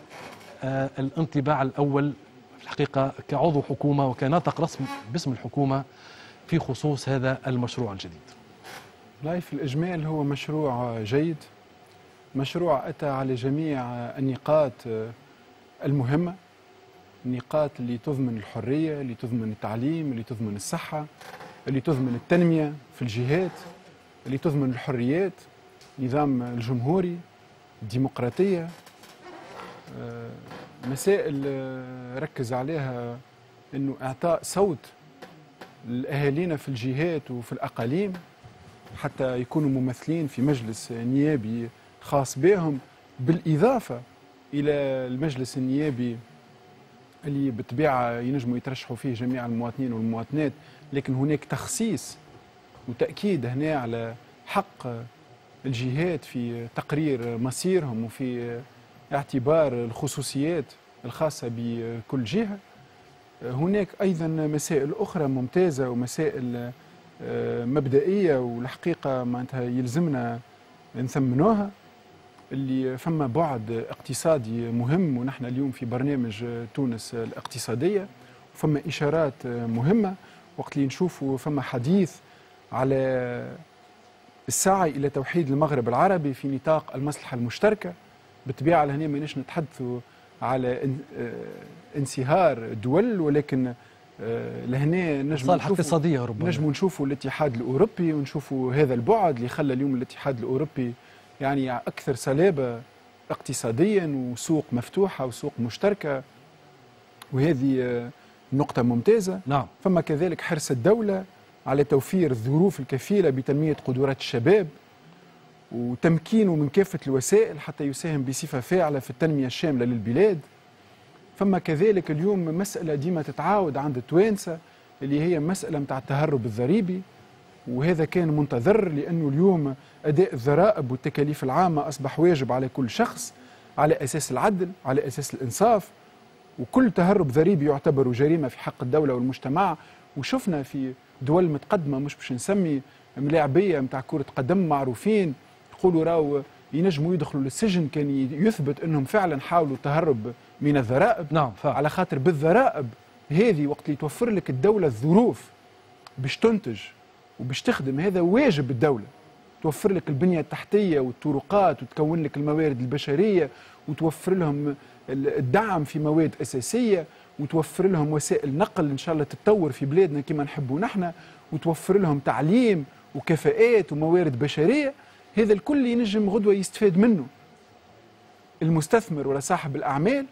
الانطباع الأول في الحقيقة كعضو حكومة وكناطق رسمي باسم الحكومة في خصوص هذا المشروع الجديد. لا، في الإجمال هو مشروع جيد، مشروع أتى على جميع النقاط المهمة، النقاط اللي تضمن الحرية، اللي تضمن التعليم، اللي تضمن الصحة، اللي تضمن التنمية في الجهات، اللي تضمن الحريات، نظام الجمهوري، الديمقراطية، مسائل ركز عليها أنه إعطاء صوت لأهالينا في الجهات وفي الأقاليم حتى يكونوا ممثلين في مجلس نيابي خاص بهم، بالإضافة إلى المجلس النيابي اللي بالطبيعة ينجموا يترشحوا فيه جميع المواطنين والمواطنات، لكن هناك تخصيص وتأكيد هنا على حق الجهات في تقرير مصيرهم وفي اعتبار الخصوصيات الخاصة بكل جهة. هناك أيضا مسائل أخرى ممتازة ومسائل مبدئية والحقيقة معناتها يلزمنا نثمنوها، اللي فما بعد اقتصادي مهم، ونحن اليوم في برنامج تونس الاقتصادية فما إشارات مهمة وقت اللي نشوفوا فما حديث على السعي إلى توحيد المغرب العربي في نطاق المصلحة المشتركة. بالطبيعة لهنا ماناش نتحدثوا على انصهار دول، ولكن لهنا نجم مصالح اقتصادية ربما نجم نشوفوا الاتحاد الأوروبي ونشوفوا هذا البعد اللي خلى اليوم الاتحاد الأوروبي يعني أكثر صلابة اقتصاديا وسوق مفتوحة وسوق مشتركة، وهذه نقطة ممتازة. نعم. فما كذلك حرص الدولة على توفير الظروف الكفيلة بتنمية قدرات الشباب، وتمكينه من كافة الوسائل حتى يساهم بصفة فاعلة في التنمية الشاملة للبلاد. فما كذلك اليوم مسألة ديما تتعاود عند التوانسة اللي هي مسألة متاع التهرب الضريبي، وهذا كان منتظر لأنه اليوم أداء الضرائب والتكاليف العامة أصبح واجب على كل شخص على أساس العدل، على أساس الإنصاف، وكل تهرب ضريبي يعتبر جريمة في حق الدولة والمجتمع. وشفنا في دول متقدمة، مش باش نسمي، ملاعبية متاع كرة قدم معروفين يقولوا راو ينجموا يدخلوا للسجن كان يثبت أنهم فعلا حاولوا التهرب من الضرائب. نعم، فعلا. على خاطر بالضرائب هذه وقت اللي توفر لك الدولة الظروف باش تنتج وباش تخدم، هذا واجب الدولة، توفر لك البنية التحتية والطرقات وتكون لك الموارد البشرية وتوفر لهم الدعم في مواد أساسية وتوفر لهم وسائل نقل إن شاء الله تتطور في بلادنا كما نحبوا نحن، وتوفر لهم تعليم وكفاءات وموارد بشرية. هذا الكل ينجم غدوة يستفاد منه المستثمر ولا صاحب الأعمال،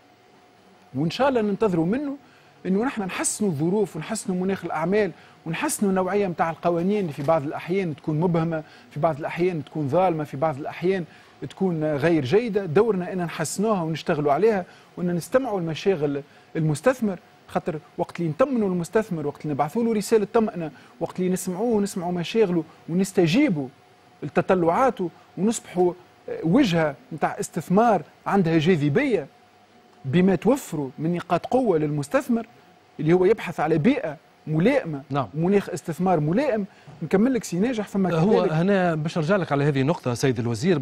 وإن شاء الله ننتظروا منه إنه نحن نحسنوا الظروف ونحسنوا مناخ الأعمال ونحسنوا النوعية متاع القوانين اللي في بعض الأحيان تكون مبهمة، في بعض الأحيان تكون ظالمة، في بعض الأحيان تكون غير جيدة. دورنا أن نحسنوها ونشتغلوا عليها وأن نستمعوا لمشاغل المستثمر، خاطر وقت اللي نطمنوا المستثمر، وقت اللي نبعثوا له رسالة طمأنة، وقت اللي نسمعوه ونسمعوا مشاغله ونستجيبوا لتطلعاته ونصبحوا وجهة نتاع استثمار عندها جاذبية بما توفروا من نقاط قوة للمستثمر اللي هو يبحث على بيئة ملائمة. نعم. مناخ استثمار ملائم. نكمل لك سي ناجح. فما هو هنا باش نرجع لك على هذه النقطة سيد الوزير،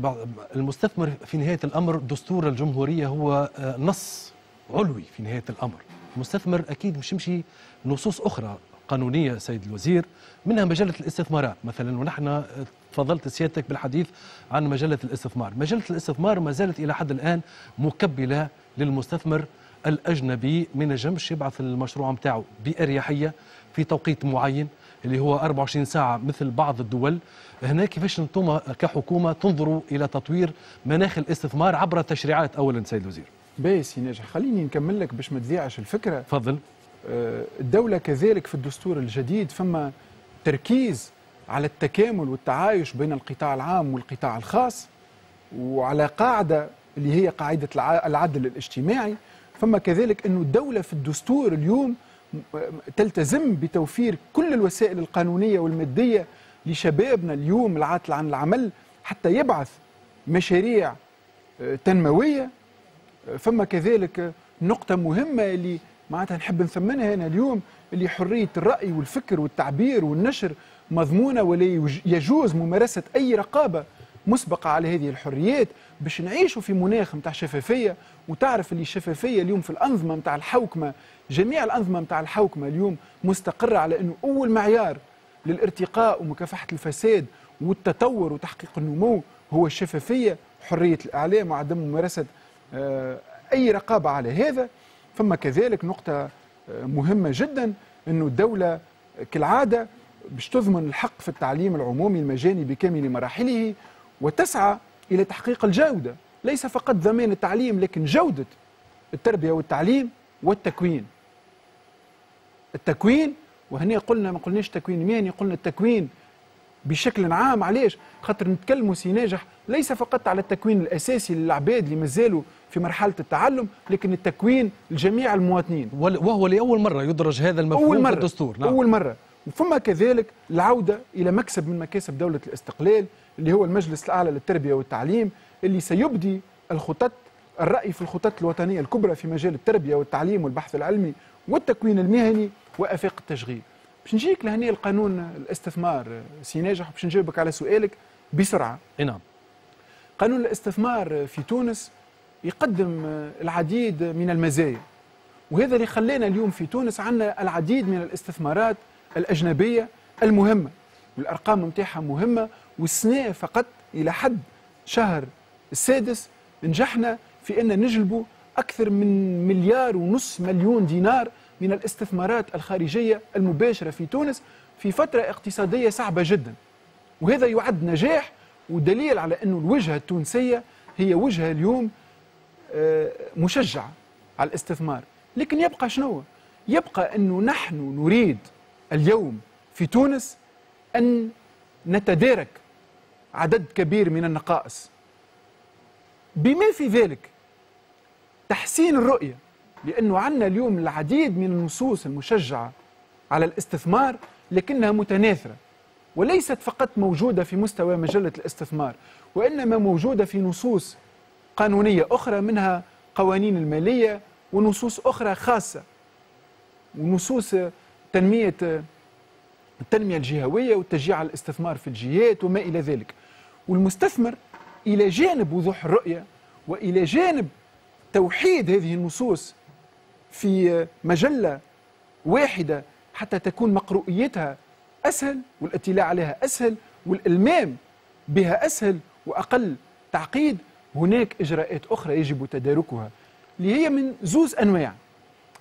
المستثمر في نهاية الأمر دستور الجمهورية هو نص علوي في نهاية الأمر، المستثمر أكيد مش يمشي نصوص أخرى قانونية سيد الوزير، منها مجلة الاستثمارات مثلا، ونحن تفضلت سيادتك بالحديث عن مجلة الاستثمار. مجلة الاستثمار ما زالت إلى حد الآن مكبلة للمستثمر الأجنبي، ما نجمش يبعث المشروع متاعه بأريحية في توقيت معين اللي هو أربعة وعشرين ساعة مثل بعض الدول. هنا كيفاش انتم كحكومة تنظروا إلى تطوير مناخ الاستثمار عبر التشريعات أولا سيد الوزير؟ باهي سي ناجح، خليني نكمل لك باش ما تضيعش الفكرة. تفضل. الدولة كذلك في الدستور الجديد فما تركيز على التكامل والتعايش بين القطاع العام والقطاع الخاص، وعلى قاعدة اللي هي قاعدة العدل الاجتماعي. فما كذلك أن الدولة في الدستور اليوم تلتزم بتوفير كل الوسائل القانونية والمادية لشبابنا اليوم العاطل عن العمل حتى يبعث مشاريع تنموية. فما كذلك نقطة مهمة اللي معناتها نحب نثمنها هنا اليوم، اللي حرية الرأي والفكر والتعبير والنشر مضمونة ولا يجوز ممارسة أي رقابة مسبقة على هذه الحريات، باش نعيشوا في مناخ متاع شفافية. وتعرف اللي الشفافية اليوم في الأنظمة متاع الحوكمة، جميع الأنظمة متاع الحوكمة اليوم مستقرة على أنه أول معيار للارتقاء ومكافحة الفساد والتطور وتحقيق النمو هو الشفافية، حرية الإعلام وعدم ممارسة أي رقابة على هذا. ثم كذلك نقطة مهمة جدا، أنه الدولة كالعادة باش تضمن الحق في التعليم العمومي المجاني بكامل مراحله، وتسعى إلى تحقيق الجودة، ليس فقط ضمان التعليم لكن جودة التربية والتعليم والتكوين. التكوين، وهنا قلنا ما قلناش تكوين مهني، قلنا التكوين بشكل عام. علاش؟ خاطر نتكلموا سي ناجح ليس فقط على التكوين الأساسي للعباد اللي مازالوا في مرحلة التعلم، لكن التكوين لجميع المواطنين، وهو لأول مرة يدرج هذا المفهوم أول مرة في الدستور. نعم. أول مرة. وثم كذلك العودة إلى مكسب من مكاسب دولة الاستقلال اللي هو المجلس الأعلى للتربية والتعليم، اللي سيبدي الخطط، الرأي في الخطط الوطنية الكبرى في مجال التربية والتعليم والبحث العلمي والتكوين المهني وآفاق التشغيل. باش نجيك لهنا القانون الاستثمار سي ناجح، باش نجاوبك على سؤالك بسرعة. نعم. قانون الاستثمار في تونس يقدم العديد من المزايا، وهذا اللي خلانا اليوم في تونس عندنا العديد من الاستثمارات الأجنبية المهمة، والأرقام متاعها مهمة. والسنة فقط إلى حد شهر السادس نجحنا في أن نجلبوا أكثر من مليار ونص مليون دينار من الاستثمارات الخارجية المباشرة في تونس في فترة اقتصادية صعبة جدا، وهذا يعد نجاح ودليل على أن الوجهة التونسية هي وجهة اليوم مشجعة على الاستثمار. لكن يبقى شنو؟ يبقى أنه نحن نريد اليوم في تونس أن نتدارك عدد كبير من النقائص، بما في ذلك تحسين الرؤية، لأنه عندنا اليوم العديد من النصوص المشجعة على الاستثمار لكنها متناثرة وليست فقط موجودة في مستوى مجلة الاستثمار، وإنما موجودة في نصوص قانونية أخرى، منها قوانين المالية ونصوص أخرى خاصة، ونصوص تنمية التنمية الجهوية والتشجيع على الاستثمار في الجهات وما إلى ذلك. والمستثمر إلى جانب وضوح الرؤية وإلى جانب توحيد هذه النصوص في مجلة واحدة حتى تكون مقروئيتها أسهل والاطلاع عليها أسهل والإلمام بها أسهل وأقل تعقيد، هناك إجراءات أخرى يجب تداركها اللي هي من زوز أنواع.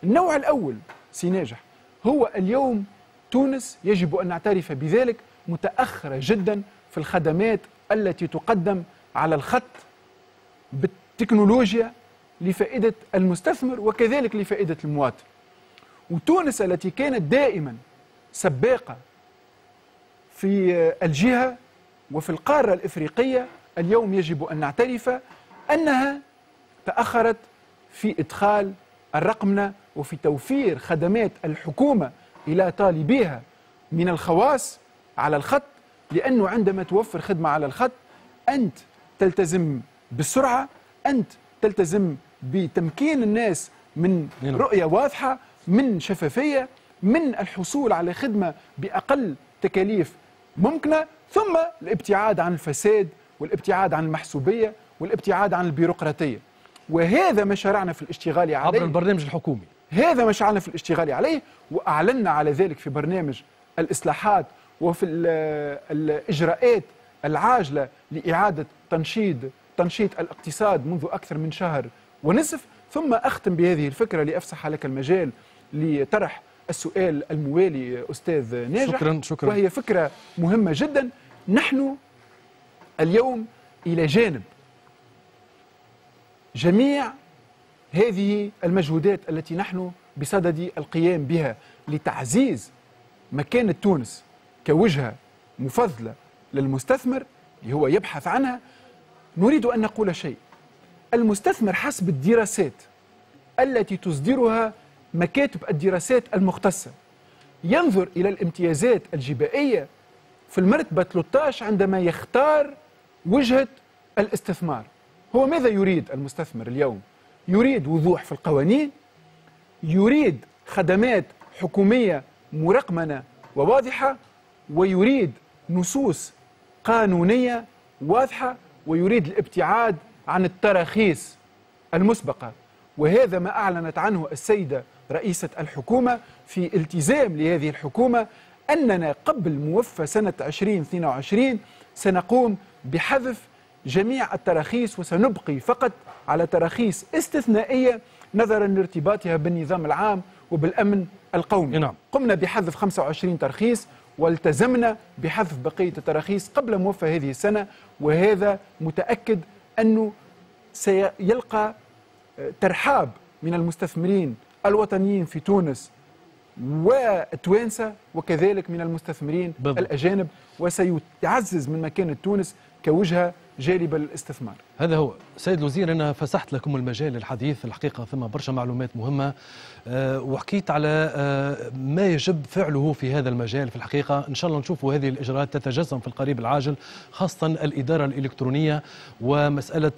النوع الأول سي ناجح هو اليوم تونس يجب أن نعترف بذلك متأخرة جدا في الخدمات التي تقدم على الخط بالتكنولوجيا لفائدة المستثمر وكذلك لفائدة المواطن. وتونس التي كانت دائما سباقة في الجهة وفي القارة الإفريقية، اليوم يجب أن نعترف أنها تأخرت في إدخال الرقمنة وفي توفير خدمات الحكومة إلى طالبيها من الخواص على الخط، لأنه عندما توفر خدمة على الخط أنت تلتزم بالسرعة، أنت تلتزم بتمكين الناس من رؤية واضحة، من شفافية، من الحصول على خدمة بأقل تكاليف ممكنة، ثم الابتعاد عن الفساد والابتعاد عن المحسوبية والابتعاد عن البيروقراطية. وهذا ما شرعنا في الاشتغال عليه عبر البرنامج الحكومي، هذا ما شرعنا في الاشتغال عليه وأعلنا على ذلك في برنامج الإصلاحات وفي الإجراءات العاجلة لإعادة تنشيط تنشيط الاقتصاد منذ أكثر من شهر ونصف. ثم أختم بهذه الفكرة لأفسح لك المجال لطرح السؤال الموالي أستاذ ناجح. شكرا شكرا. وهي فكرة مهمة جدا. نحن اليوم إلى جانب جميع هذه المجهودات التي نحن بصدد القيام بها لتعزيز مكانة تونس كوجهة مفضلة للمستثمر اللي هو يبحث عنها، نريد أن نقول شيء. المستثمر حسب الدراسات التي تصدرها مكاتب الدراسات المختصة ينظر إلى الامتيازات الجبائية في المرتبة ثلاثة عشر عندما يختار وجهة الاستثمار. هو ماذا يريد المستثمر اليوم؟ يريد وضوح في القوانين، يريد خدمات حكومية مرقمنة وواضحة، ويريد نصوص قانونية واضحة، ويريد الابتعاد عن التراخيص المسبقة. وهذا ما أعلنت عنه السيدة رئيسة الحكومة في التزام لهذه الحكومة أننا قبل موفى سنة ألفين واثنين وعشرين سنقوم بحذف جميع التراخيص وسنبقي فقط على تراخيص استثنائية نظرا لارتباطها بالنظام العام وبالأمن القومي. نعم. قمنا بحذف خمسة وعشرين ترخيص والتزمنا بحذف بقية التراخيص قبل موفى هذه السنة، وهذا متأكد أنه سيلقى ترحاب من المستثمرين الوطنيين في تونس والتوانسة وكذلك من المستثمرين بالضبط. الأجانب، وسيعزز من مكانة تونس كوجهة جالبة للاستثمار. هذا هو سيد الوزير، أنا فسحت لكم المجال للحديث الحقيقة، ثم برشا معلومات مهمة وحكيت على ما يجب فعله في هذا المجال. في الحقيقة إن شاء الله نشوف هذه الإجراءات تتجسم في القريب العاجل، خاصة الإدارة الإلكترونية ومسألة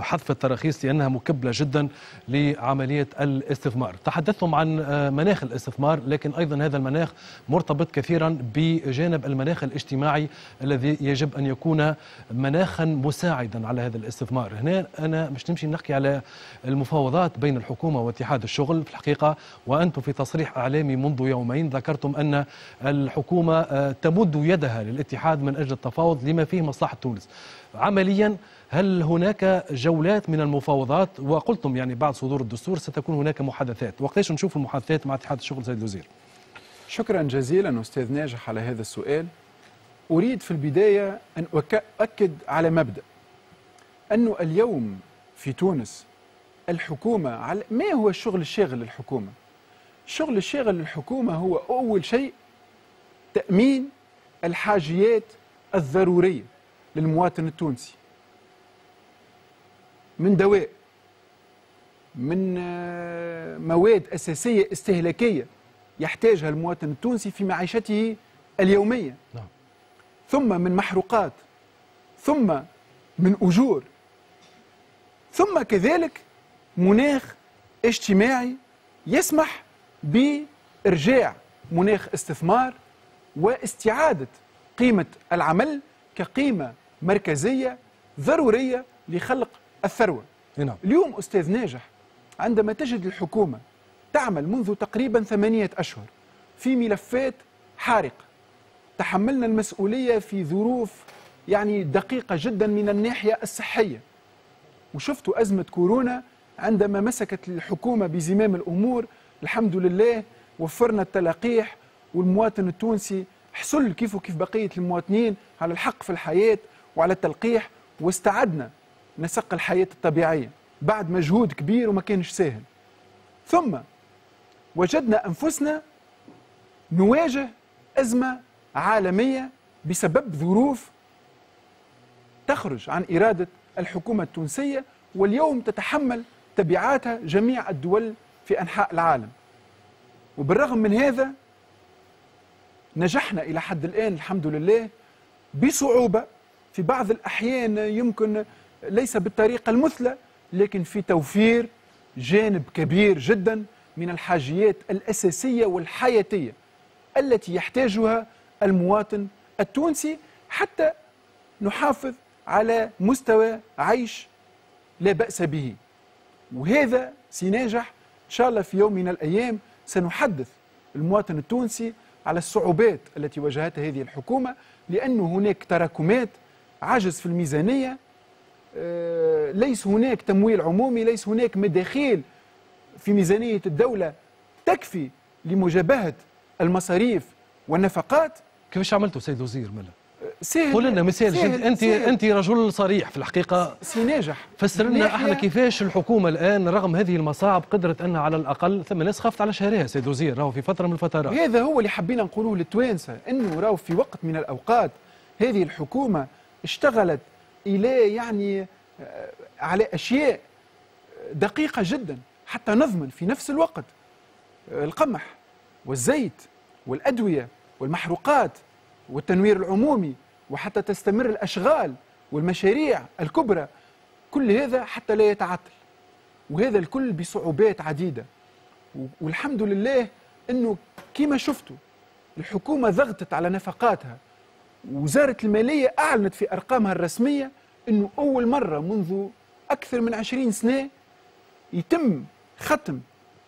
حذف التراخيص لأنها مكبلة جدا لعملية الاستثمار. تحدثتم عن مناخ الاستثمار، لكن أيضا هذا المناخ مرتبط كثيرا بجانب المناخ الاجتماعي الذي يجب أن يكون مناخا مساعدا على هذا الاستثمار. هنا أنا مش نمشي نحكي على المفاوضات بين الحكومة واتحاد الشغل في الحقيقة، وأنتم في تصريح إعلامي منذ يومين ذكرتم أن الحكومة تمد يدها للاتحاد من أجل التفاوض لما فيه مصلحة تونس. عمليا هل هناك جولات من المفاوضات؟ وقلتم يعني بعد صدور الدستور ستكون هناك محادثات، وقتاش نشوف المحادثات مع اتحاد الشغل سيد الوزير؟ شكرا جزيلا أستاذ ناجح على هذا السؤال. أريد في البداية أن أؤكد على مبدأ أنه اليوم في تونس الحكومة على ما هو الشغل الشاغل للحكومة؟ الشغل الشاغل للحكومة هو أول شيء تأمين الحاجيات الضرورية للمواطن التونسي من دواء، من مواد أساسية استهلاكية يحتاجها المواطن التونسي في معيشته اليومية، نعم. ثم من محروقات، ثم من أجور، ثم كذلك مناخ اجتماعي يسمح بإرجاع مناخ استثمار واستعادة قيمة العمل كقيمة مركزية ضرورية لخلق الثروة. نعم. اليوم أستاذ ناجح، عندما تجد الحكومة تعمل منذ تقريبا ثمانية أشهر في ملفات حارقة، تحملنا المسؤولية في ظروف يعني دقيقة جدا من الناحية الصحية، وشفتوا أزمة كورونا عندما مسكت الحكومة بزمام الأمور، الحمد لله وفرنا التلقيح، والمواطن التونسي حصل كيف وكيف بقية المواطنين على الحق في الحياة وعلى التلقيح، واستعدنا نسق الحياة الطبيعية بعد مجهود كبير وما كانش سهل. ثم وجدنا أنفسنا نواجه أزمة عالمية بسبب ظروف تخرج عن إرادة الحكومة التونسية، واليوم تتحمل تبعاتها جميع الدول في أنحاء العالم. وبالرغم من هذا نجحنا إلى حد الآن الحمد لله بصعوبة، في بعض الأحيان يمكن ليس بالطريقة المثلى، لكن في توفير جانب كبير جدا من الحاجيات الأساسية والحياتية التي يحتاجها المواطن التونسي حتى نحافظ على مستوى عيش لا بأس به. وهذا سيناجح إن شاء الله في يوم من الأيام سنحدث المواطن التونسي على الصعوبات التي واجهتها هذه الحكومة، لأن هناك تراكمات، عجز في الميزانية، ليس هناك تمويل عمومي، ليس هناك مداخيل في ميزانية الدولة تكفي لمجابهة المصاريف والنفقات. كيفاش عملتوا سيد وزير ملا؟ سهل، قول لنا مثال. انت انت رجل صريح في الحقيقة سي ناجح، فسر لنا احنا كيفاش الحكومة الان رغم هذه المصاعب قدرت انها على الاقل، ثم ناس خافت على شهرها سيد وزير راهو في فترة من الفترات. هذا هو اللي حبينا نقولوه للتوانسه، انه راهو في وقت من الاوقات هذه الحكومة اشتغلت الى يعني على اشياء دقيقة جدا حتى نضمن في نفس الوقت القمح والزيت والادوية والمحروقات والتنوير العمومي، وحتى تستمر الأشغال والمشاريع الكبرى، كل هذا حتى لا يتعطل، وهذا الكل بصعوبات عديدة. والحمد لله أنه كما شفتوا الحكومة ضغطت على نفقاتها، وزارة المالية أعلنت في أرقامها الرسمية أنه أول مرة منذ أكثر من عشرين سنة يتم ختم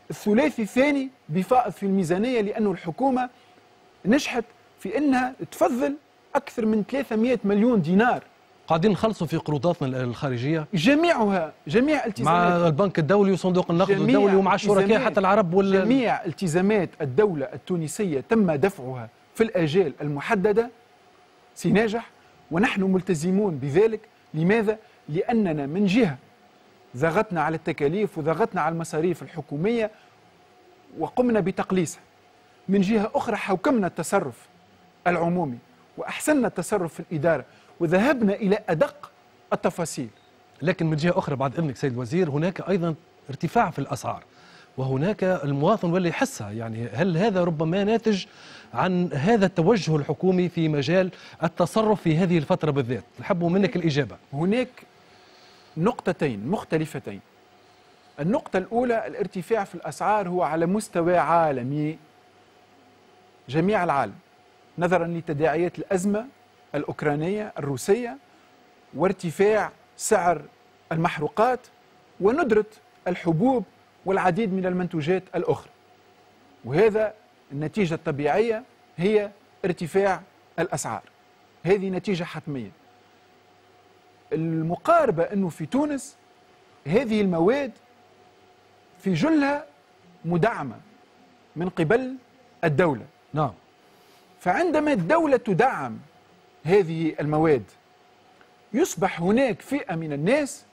الثلاثي الثاني بفائض في الميزانية، لأنه الحكومة نجحت في انها تفضل اكثر من ثلاثمئة مليون دينار. قاعدين نخلصوا في قروضاتنا الخارجية جميعها، جميع التزامات مع البنك الدولي وصندوق النقد الدولي ومع الشركاء حتى العرب وال... جميع التزامات الدولة التونسية تم دفعها في الاجال المحددة سيناجح، ونحن ملتزمون بذلك. لماذا؟ لاننا من جهة ضغطنا على التكاليف وضغطنا على المصاريف الحكومية وقمنا بتقليصها، من جهة اخرى حوكمنا التصرف العمومي وأحسننا التصرف في الإدارة وذهبنا إلى أدق التفاصيل. لكن من جهة أخرى بعد إذنك سيد الوزير، هناك أيضا ارتفاع في الأسعار، وهناك المواطن واللي يحسها، يعني هل هذا ربما ناتج عن هذا التوجه الحكومي في مجال التصرف في هذه الفترة بالذات؟ نحب منك الإجابة. هناك نقطتين مختلفتين. النقطة الأولى، الارتفاع في الأسعار هو على مستوى عالمي، جميع العالم، نظرا لتداعيات الأزمة الأوكرانية الروسية وارتفاع سعر المحروقات وندرة الحبوب والعديد من المنتوجات الأخرى، وهذا النتيجة الطبيعية هي ارتفاع الأسعار، هذه نتيجة حتمية. المقاربة أنه في تونس هذه المواد في جلها مدعمة من قبل الدولة. نعم. فعندما الدولة تدعم هذه المواد يصبح هناك فئة من الناس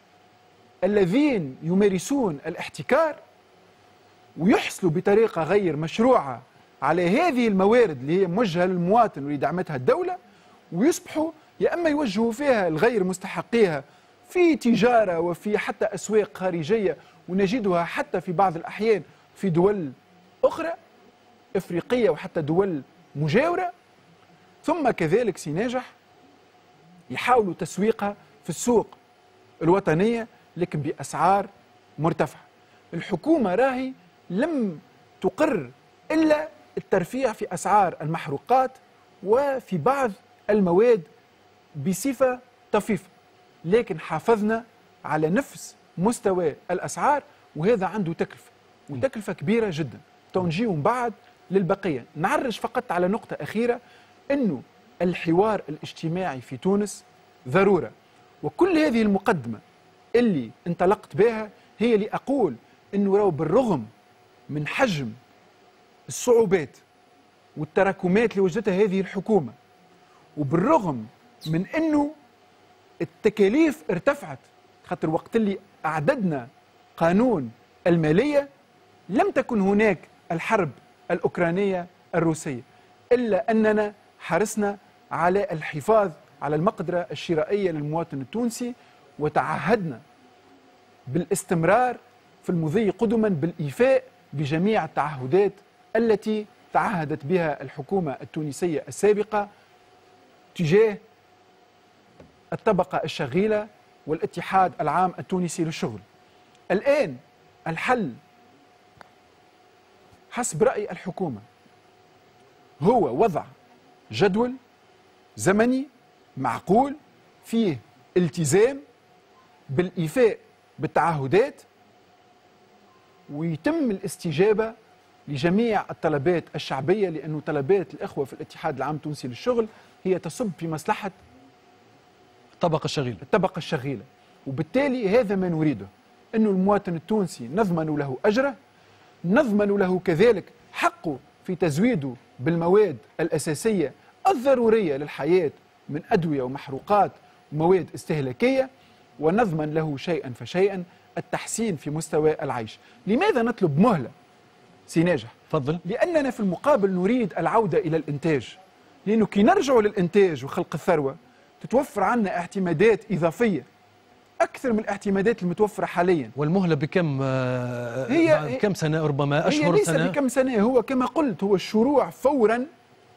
الذين يمارسون الاحتكار ويحصلوا بطريقة غير مشروعة على هذه الموارد اللي هي موجهة للمواطن واللي دعمتها الدولة، ويصبحوا يا اما يوجهوا فيها الغير مستحقيها في تجارة وفي حتى اسواق خارجية، ونجدها حتى في بعض الاحيان في دول اخرى افريقية وحتى دول مجاوره. ثم كذلك سي ناجح يحاولوا تسويقها في السوق الوطنية لكن باسعار مرتفعة. الحكومة راهي لم تقر الا الترفيع في اسعار المحروقات وفي بعض المواد بصفة طفيفة، لكن حافظنا على نفس مستوى الاسعار، وهذا عنده تكلفة وتكلفة كبيرة جدا. تنجيو من بعد للبقيه. نعرج فقط على نقطة اخيرة، انه الحوار الاجتماعي في تونس ضرورة، وكل هذه المقدمة اللي انطلقت بها هي لأقول انه راهو بالرغم من حجم الصعوبات والتراكمات اللي وجدتها هذه الحكومة، وبالرغم من انه التكاليف ارتفعت، خاطر وقت اللي اعددنا قانون المالية لم تكن هناك الحرب الاوكرانية الروسية، الا اننا حرصنا على الحفاظ على المقدرة الشرائية للمواطن التونسي، وتعهدنا بالاستمرار في المضي قدما بالإيفاء بجميع التعهدات التي تعهدت بها الحكومة التونسية السابقة تجاه الطبقة الشغيلة والاتحاد العام التونسي للشغل. الآن الحل حسب رأي الحكومة هو وضع جدول زمني معقول فيه التزام بالإيفاء بالتعهدات، ويتم الاستجابة لجميع الطلبات الشعبية، لأن طلبات الإخوة في الاتحاد العام التونسي للشغل هي تصب في مصلحة الطبقة الشغيلة الطبقة الشغيلة، وبالتالي هذا ما نريده، أن المواطن التونسي نضمن له أجره، نضمن له كذلك حقه في تزويده بالمواد الأساسية الضرورية للحياة من أدوية ومحروقات ومواد استهلاكية، ونضمن له شيئا فشيئا التحسين في مستوى العيش. لماذا نطلب مهلة سي ناجح؟ تفضل. لأننا في المقابل نريد العودة إلى الإنتاج، لأنه كي نرجع للإنتاج وخلق الثروة تتوفر عنا اعتمادات إضافية أكثر من الاعتمادات المتوفرة حاليا. والمهلة بكم هي بكم سنة؟ ربما أشهر، هي ليس سنة؟ بكم سنة، هو كما قلت هو الشروع فورا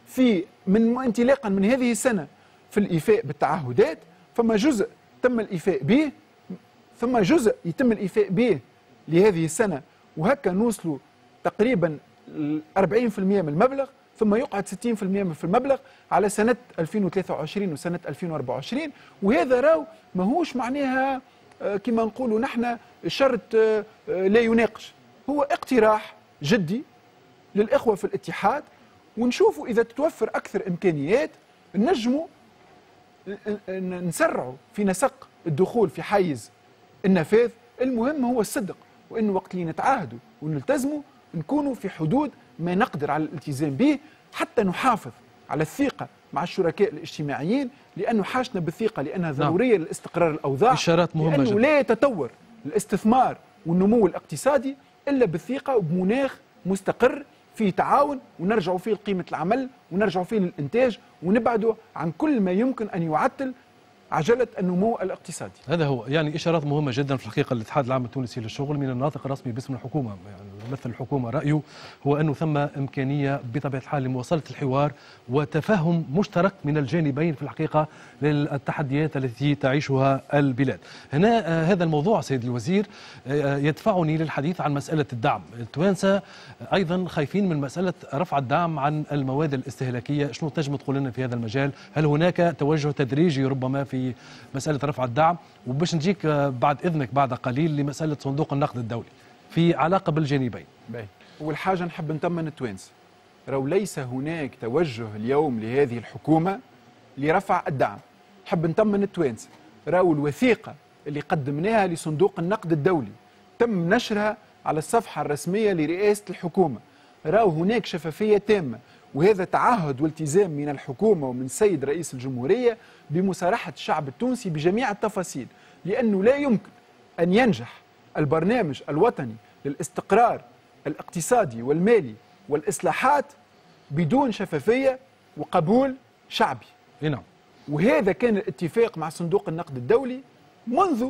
في من انطلاقا من هذه السنة في الإيفاء بالتعهدات، فما جزء تم الإيفاء به، ثم جزء يتم الإيفاء به لهذه السنة، وهكا نوصلوا تقريبا أربعين بالمئة من المبلغ، ثم يقعد ستين بالمئة في المبلغ على سنة ألفين وثلاثة وعشرين وسنة ألفين وأربعة وعشرين. وهذا راو ماهوش معناها كما نقولوا نحن شرط لا يناقش، هو اقتراح جدي للإخوة في الاتحاد، ونشوفوا إذا تتوفر أكثر إمكانيات نجموا نسرعوا في نسق الدخول في حيز النفاذ. المهم هو الصدق، وإنه وقت اللي نتعاهدوا ونلتزموا نكونوا في حدود ما نقدر على الالتزام به، حتى نحافظ على الثقة مع الشركاء الاجتماعيين، لأنه حاجتنا بالثقة لأنها ضرورية نعم. لاستقرار الأوضاع. إشارات مهمة لأنه جدا. لا يتطور الاستثمار والنمو الاقتصادي إلا بالثقة وبمناخ مستقر فيه تعاون، ونرجع فيه لقيمة العمل، ونرجع فيه للإنتاج، ونبعده عن كل ما يمكن أن يعطل عجلة النمو الاقتصادي. هذا هو، يعني إشارات مهمة جدا في الحقيقة. الاتحاد العام التونسي للشغل من الناطق الرسمي باسم الحكومة، يعني يمثل الحكومة، رأيه هو أنه ثم إمكانية بطبيعة الحال لمواصلة الحوار وتفاهم مشترك من الجانبين في الحقيقة للتحديات التي تعيشها البلاد. هنا هذا الموضوع سيد الوزير يدفعني للحديث عن مسألة الدعم. التوانسة أيضا خايفين من مسألة رفع الدعم عن المواد الاستهلاكية، شنو تنجم تقول لنا في هذا المجال؟ هل هناك توجه تدريجي ربما في مسألة رفع الدعم؟ وباش نجيك بعد إذنك بعد قليل لمسألة صندوق النقد الدولي في علاقة بالجانبين. باهي. أول حاجة نحب نطمن التوانسة، راهو ليس هناك توجه اليوم لهذه الحكومة لرفع الدعم. نحب نطمن التوانسة، راهو الوثيقة اللي قدمناها لصندوق النقد الدولي تم نشرها على الصفحة الرسمية لرئاسة الحكومة، راهو هناك شفافية تامة، وهذا تعهد والتزام من الحكومة ومن السيد رئيس الجمهورية بمصارحة الشعب التونسي بجميع التفاصيل، لأنه لا يمكن أن ينجح البرنامج الوطني للاستقرار الاقتصادي والمالي والإصلاحات بدون شفافية وقبول شعبي. نعم. وهذا كان الاتفاق مع صندوق النقد الدولي منذ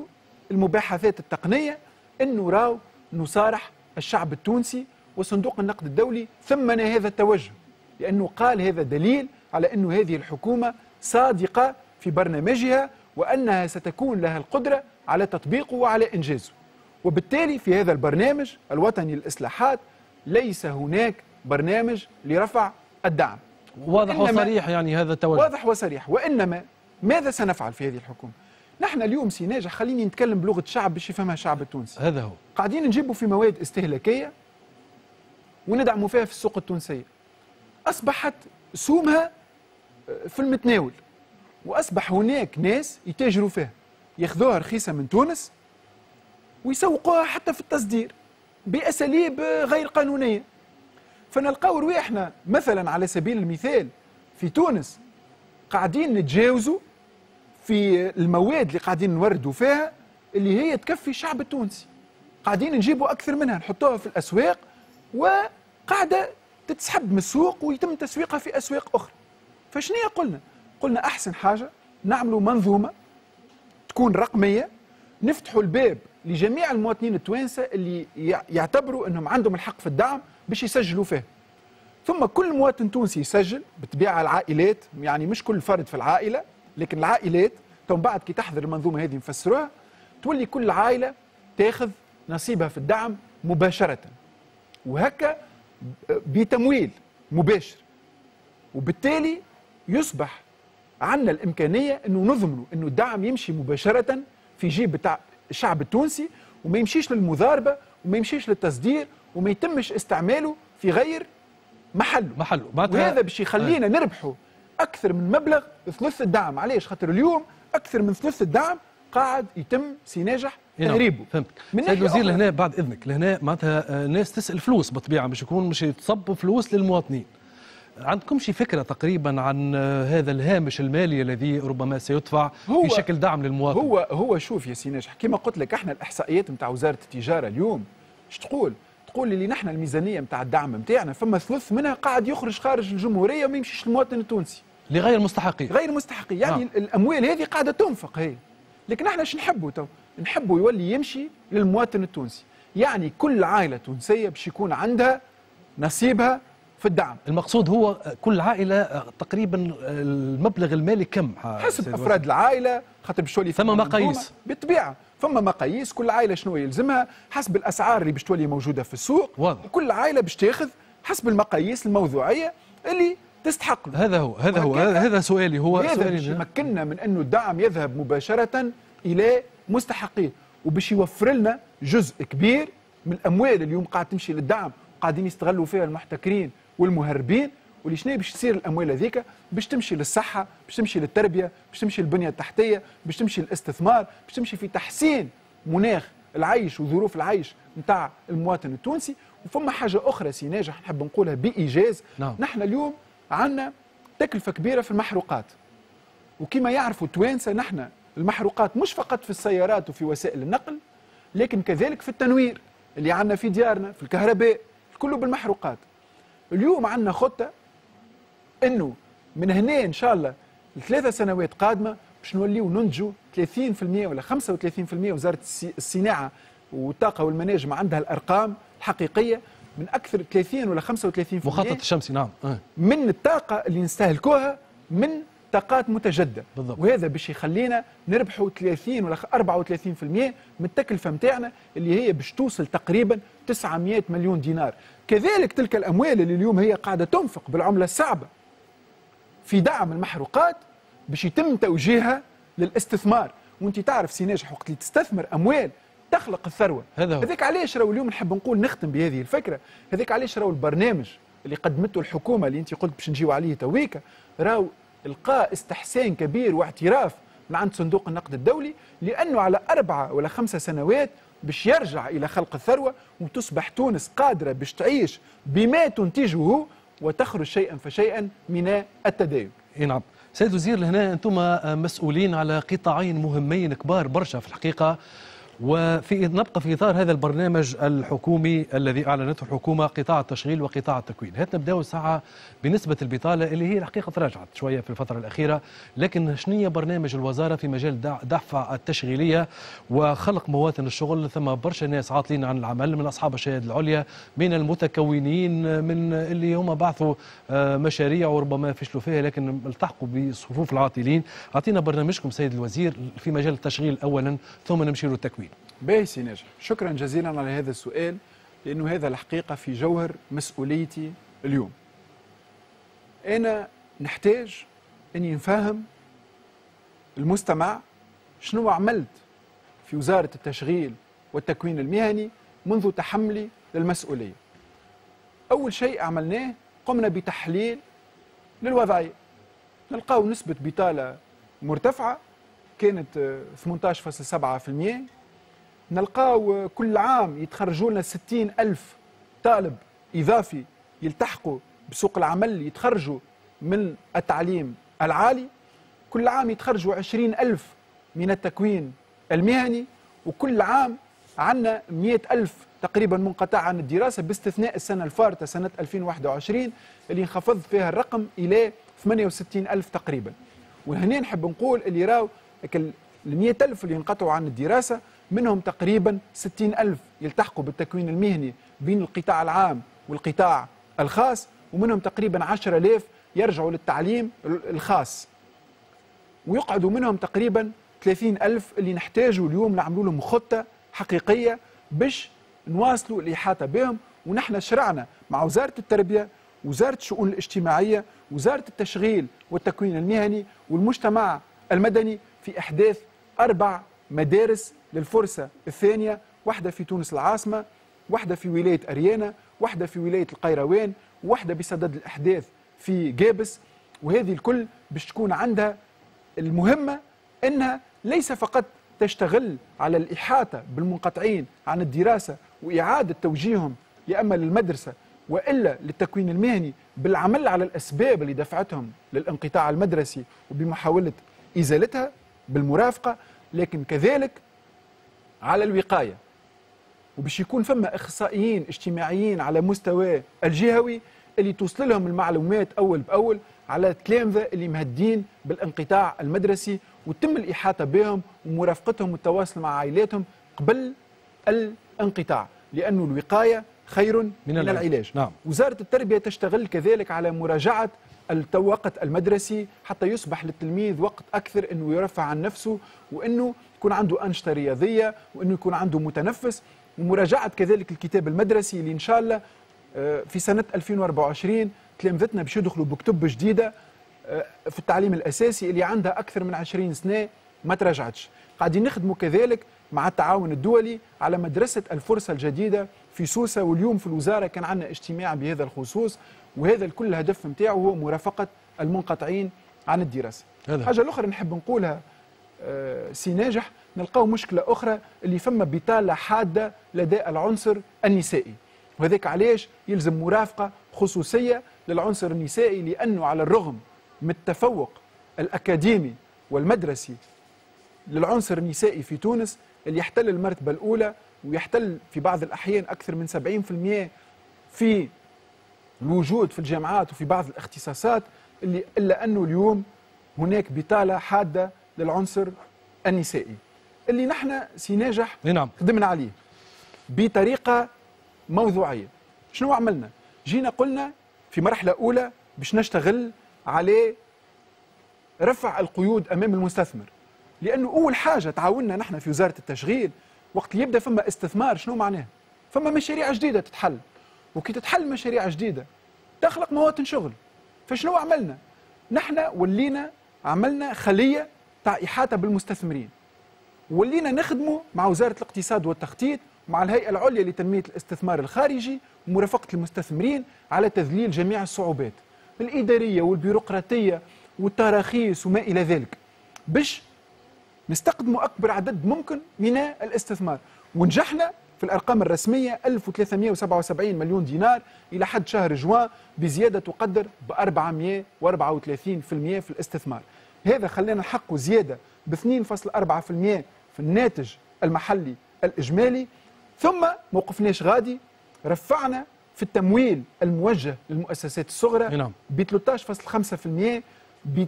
المباحثات التقنية، أنه راو نصارح الشعب التونسي، وصندوق النقد الدولي ثمن هذا التوجه، لأنه قال هذا دليل على أن هذه الحكومة صادقة في برنامجها وأنها ستكون لها القدرة على تطبيقه وعلى إنجازه. وبالتالي في هذا البرنامج الوطني للإصلاحات ليس هناك برنامج لرفع الدعم. واضح وصريح يعني هذا التوجه، واضح وصريح. وإنما ماذا سنفعل في هذه الحكومة؟ نحن اليوم سي ناجح، خليني نتكلم بلغة الشعب باش يفهمها الشعب التونسي. هذا هو قاعدين نجيبوا في مواد استهلاكية وندعموا فيها في السوق التونسية، أصبحت سومها في المتناول، وأصبح هناك ناس يتاجروا فيها، ياخذوها رخيصة من تونس ويسوقوها حتى في التصدير بأساليب غير قانونية. فنلقاو رواحنا مثلا على سبيل المثال في تونس قاعدين نتجاوزوا في المواد اللي قاعدين نوردوا فيها اللي هي تكفي الشعب التونسي، قاعدين نجيبوا أكثر منها نحطوها في الأسواق وقاعدة تتسحب من السوق ويتم تسويقها في أسواق أخرى. فشنو قلنا؟ قلنا أحسن حاجة نعملوا منظومة تكون رقمية، نفتحوا الباب لجميع المواطنين التوانسة اللي يعتبروا أنهم عندهم الحق في الدعم باش يسجلوا فيه. ثم كل مواطن تونسي يسجل، بالطبيعة العائلات، يعني مش كل فرد في العائلة لكن العائلات، ثم بعد كي تحضر المنظومة هذه نفسروها، تولي كل عائلة تاخذ نصيبها في الدعم مباشرة، وهكا بتمويل مباشر، وبالتالي يصبح عندنا الإمكانية أنه نضمنوا أنه الدعم يمشي مباشرة في جيب بتاع الشعب التونسي، وما يمشيش للمضاربة وما يمشيش للتصدير وما يتمش استعماله في غير محله محله. وهذا باش يخلينا نربحوا أكثر من مبلغ ثلث الدعم. علاش؟ خاطر اليوم أكثر من ثلث الدعم قاعد يتم سي ناجح تهريبه. فهمت سيد الوزير. لهنا بعد إذنك، لهنا معناتها ناس تسأل فلوس بالطبيعة باش يكون مش يتصبوا فلوس للمواطنين. عندكم شي فكرة تقريبا عن هذا الهامش المالي الذي ربما سيدفع في شكل دعم للمواطن؟ هو هو شوف يا سي ناجح، كما قلت لك احنا الاحصائيات نتاع وزارة التجارة اليوم اش تقول؟ تقول اللي نحن الميزانية نتاع الدعم نتاعنا فما ثلث منها قاعد يخرج خارج الجمهورية وما يمشيش للمواطن التونسي. لغير مستحقين. غير مستحقين، يعني آه. الاموال هذه قاعدة تنفق هي. لكن احنا اش نحبوا تو؟ نحبوا يولي يمشي للمواطن التونسي، يعني كل عائلة تونسية باش يكون عندها نصيبها في الدعم. المقصود هو كل عائلة تقريبا المبلغ المالي كم؟ حسب أفراد العائلة، خاطر باش تولي ثم مقاييس بالطبيعة، فما مقاييس كل عائلة شنو يلزمها حسب الأسعار اللي باش تولي موجودة في السوق. واضح. وكل عائلة باش تاخذ حسب المقاييس الموضوعية اللي تستحق له. هذا هو هذا هو هذا سؤالي هو هذا سؤالي باش يمكننا من أنه الدعم يذهب مباشرة إلى مستحقيه، وباش يوفر لنا جزء كبير من الأموال اليوم قاعد تمشي للدعم قاعدين يستغلوا فيها المحتكرين والمهربين، واللي شنو باش تصير الاموال هذيك؟ باش تمشي للصحة، باش تمشي للتربية، باش تمشي للبنيه التحتية، باش تمشي للاستثمار، باش تمشي في تحسين مناخ العيش وظروف العيش نتاع المواطن التونسي. وفما حاجة اخرى سي ناجح نحب نقولها بايجاز. نعم. نحن اليوم عندنا تكلفة كبيرة في المحروقات، وكما يعرفوا التوانسة نحن المحروقات مش فقط في السيارات وفي وسائل النقل، لكن كذلك في التنوير اللي عندنا في ديارنا، في الكهرباء، كله بالمحروقات. اليوم عندنا خطة انه من هنا ان شاء الله لثلاثة سنوات قادمة باش نوليو ننتجوا ثلاثين بالمئة ولا خمسة وثلاثين بالمئة. وزارة الصناعة والطاقة والمناجم عندها الأرقام الحقيقية من أكثر ثلاثين ولا خمسة وثلاثين بالمئة مخطط الشمسي. نعم. أه. من الطاقة اللي نستهلكوها من طاقات متجددة. بالضبط. وهذا باش يخلينا نربحوا ثلاثين ولا أربعة وثلاثين بالمئة من التكلفة نتاعنا اللي هي باش توصل تقريبا تسعمئة مليون دينار. كذلك تلك الأموال اللي اليوم هي قاعدة تنفق بالعملة الصعبة في دعم المحروقات باش يتم توجيهها للاستثمار. وانت تعرف سي ناجح وقت اللي تستثمر أموال تخلق الثروة. هذا هو. هذاك علاش راهو اليوم نحب نقول نختم بهذه الفكرة، هذاك علاش راهو البرنامج اللي قدمته الحكومة اللي انت قلت باش نجيو عليه تويكا راهو لقى استحسان كبير واعتراف من عند صندوق النقد الدولي، لأنه على أربعة ولا خمسة سنوات باش يرجع إلى خلق الثروة وتصبح تونس قادرة باش تعيش بما تنتجه وتخرج شيئا فشيئا من التداين. نعم سيد الوزير، لهنا أنتم مسؤولين على قطاعين مهمين كبار برشا في الحقيقة، وفي نبقى في إطار هذا البرنامج الحكومي الذي أعلنته الحكومة، قطاع التشغيل وقطاع التكوين. هات نبداو ساعة بنسبة البطالة اللي هي الحقيقة تراجعت شوية في الفترة الأخيرة، لكن شنية برنامج الوزارة في مجال دفع التشغيلية وخلق مواطن الشغل؟ ثم برشا ناس عاطلين عن العمل، من أصحاب الشهادة العليا، من المتكونين، من اللي هم بعثوا مشاريع وربما فشلوا فيها لكن التحقوا بصفوف العاطلين. أعطينا برنامجكم سيد الوزير في مجال التشغيل أولا ثم نمشي للتكوين. باهي سي ناجح، شكرا جزيلا على هذا السؤال، لأنه هذا الحقيقة في جوهر مسؤوليتي اليوم. أنا نحتاج أني نفهم المستمع شنو عملت في وزارة التشغيل والتكوين المهني منذ تحملي للمسؤولية. أول شيء عملناه قمنا بتحليل للوضعية، نلقاو نسبة بطالة مرتفعة كانت ثمانية عشر فاصلة سبعة بالمئة، نلقاو كل عام يتخرجوا لنا ستين ألف طالب إضافي يلتحقوا بسوق العمل، يتخرجوا من التعليم العالي، كل عام يتخرجوا عشرين ألف من التكوين المهني، وكل عام عندنا مئة ألف تقريبا منقطع عن الدراسة، باستثناء السنة الفارطة سنة ألفين وواحد وعشرين اللي انخفض فيها الرقم إلى ثمانية وستين ألف تقريبا. وهنا نحب نقول اللي راو ال مئة ألف اللي انقطعوا عن الدراسة منهم تقريبا ستين ألف يلتحقوا بالتكوين المهني بين القطاع العام والقطاع الخاص، ومنهم تقريبا عشرة آلاف يرجعوا للتعليم الخاص، ويقعدوا منهم تقريبا ثلاثين ألف اللي نحتاجوا اليوم نعملوا لهم خطة حقيقية باش نواصلوا الإحاطة بهم. ونحن شرعنا مع وزارة التربية، وزارة الشؤون الاجتماعية، وزارة التشغيل والتكوين المهني والمجتمع المدني في إحداث أربع مدارس للفرصة الثانية، واحدة في تونس العاصمة، واحدة في ولاية أريانا، واحدة في ولاية القيروان، واحدة بصدد الأحداث في جابس. وهذه الكل باش تكون عندها المهمة أنها ليس فقط تشتغل على الإحاطة بالمنقطعين عن الدراسة وإعادة توجيههم يا أما للمدرسة وإلا للتكوين المهني بالعمل على الأسباب اللي دفعتهم للانقطاع المدرسي وبمحاولة إزالتها بالمرافقة، لكن كذلك على الوقاية، وباش يكون فما إخصائيين اجتماعيين على مستوى الجهوي اللي توصل لهم المعلومات أول بأول على التلامذة اللي مهدين بالانقطاع المدرسي، وتم الإحاطة بهم ومرافقتهم والتواصل مع عائلاتهم قبل الانقطاع، لأنه الوقاية خير من, من العلاج. نعم. وزارة التربية تشتغل كذلك على مراجعة الوقت المدرسي حتى يصبح للتلميذ وقت أكثر أنه يرفع عن نفسه، وأنه يكون عنده أنشطة رياضية، وأنه يكون عنده متنفس، ومراجعة كذلك الكتاب المدرسي اللي إن شاء الله في سنة ألفين وأربعة وعشرين تلامذتنا باش يدخلوا بكتب جديدة في التعليم الأساسي اللي عندها أكثر من عشرين سنة ما تراجعتش. قاعدين نخدموا كذلك مع التعاون الدولي على مدرسة الفرصة الجديدة في سوسة، واليوم في الوزارة كان عندنا اجتماع بهذا الخصوص، وهذا الكل الهدف نتاعو هو مرافقة المنقطعين عن الدراسة. حاجة الأخرى نحب نقولها سي ناجح، نلقاو مشكلة أخرى اللي فما بطالة حادة لدى العنصر النسائي، وهذاك علاش يلزم مرافقة خصوصية للعنصر النسائي، لأنه على الرغم من التفوق الأكاديمي والمدرسي للعنصر النسائي في تونس اللي يحتل المرتبة الأولى ويحتل في بعض الأحيان أكثر من سبعين بالمئة في الوجود في الجامعات وفي بعض الاختصاصات، اللي إلا أنه اليوم هناك بطالة حادة للعنصر النسائي اللي نحن سي ناجح نعم. خدمنا عليه بطريقة موضوعية. شنو عملنا؟ جينا قلنا في مرحلة أولى باش نشتغل على رفع القيود أمام المستثمر، لأنه أول حاجة تعاوننا نحن في وزارة التشغيل وقت اللي يبدأ فما استثمار شنو معناه؟ فما مشاريع جديدة تتحل، وكي تتحل مشاريع جديدة تخلق مواطن شغل. فشنو عملنا؟ نحن ولينا عملنا خلية تاع إحاطة بالمستثمرين، ولينا نخدموا مع وزارة الاقتصاد والتخطيط مع الهيئة العليا لتنمية الاستثمار الخارجي ومرافقة المستثمرين على تذليل جميع الصعوبات الإدارية والبيروقراطية والتراخيص وما إلى ذلك، باش نستقدموا أكبر عدد ممكن من الاستثمار. ونجحنا في الأرقام الرسمية ألف وثلاثمئة وسبعة وسبعين مليون دينار إلى حد شهر جوان، بزيادة تقدر ب أربعمئة وأربعة وثلاثين بالمئة في الاستثمار. هذا خلانا نحققوا زيادة ب اثنين فاصلة أربعة بالمئة في الناتج المحلي الإجمالي. ثم ما وقفناش غادي، رفعنا في التمويل الموجه للمؤسسات الصغرى ب ثلاثة عشر فاصلة خمسة بالمئة ب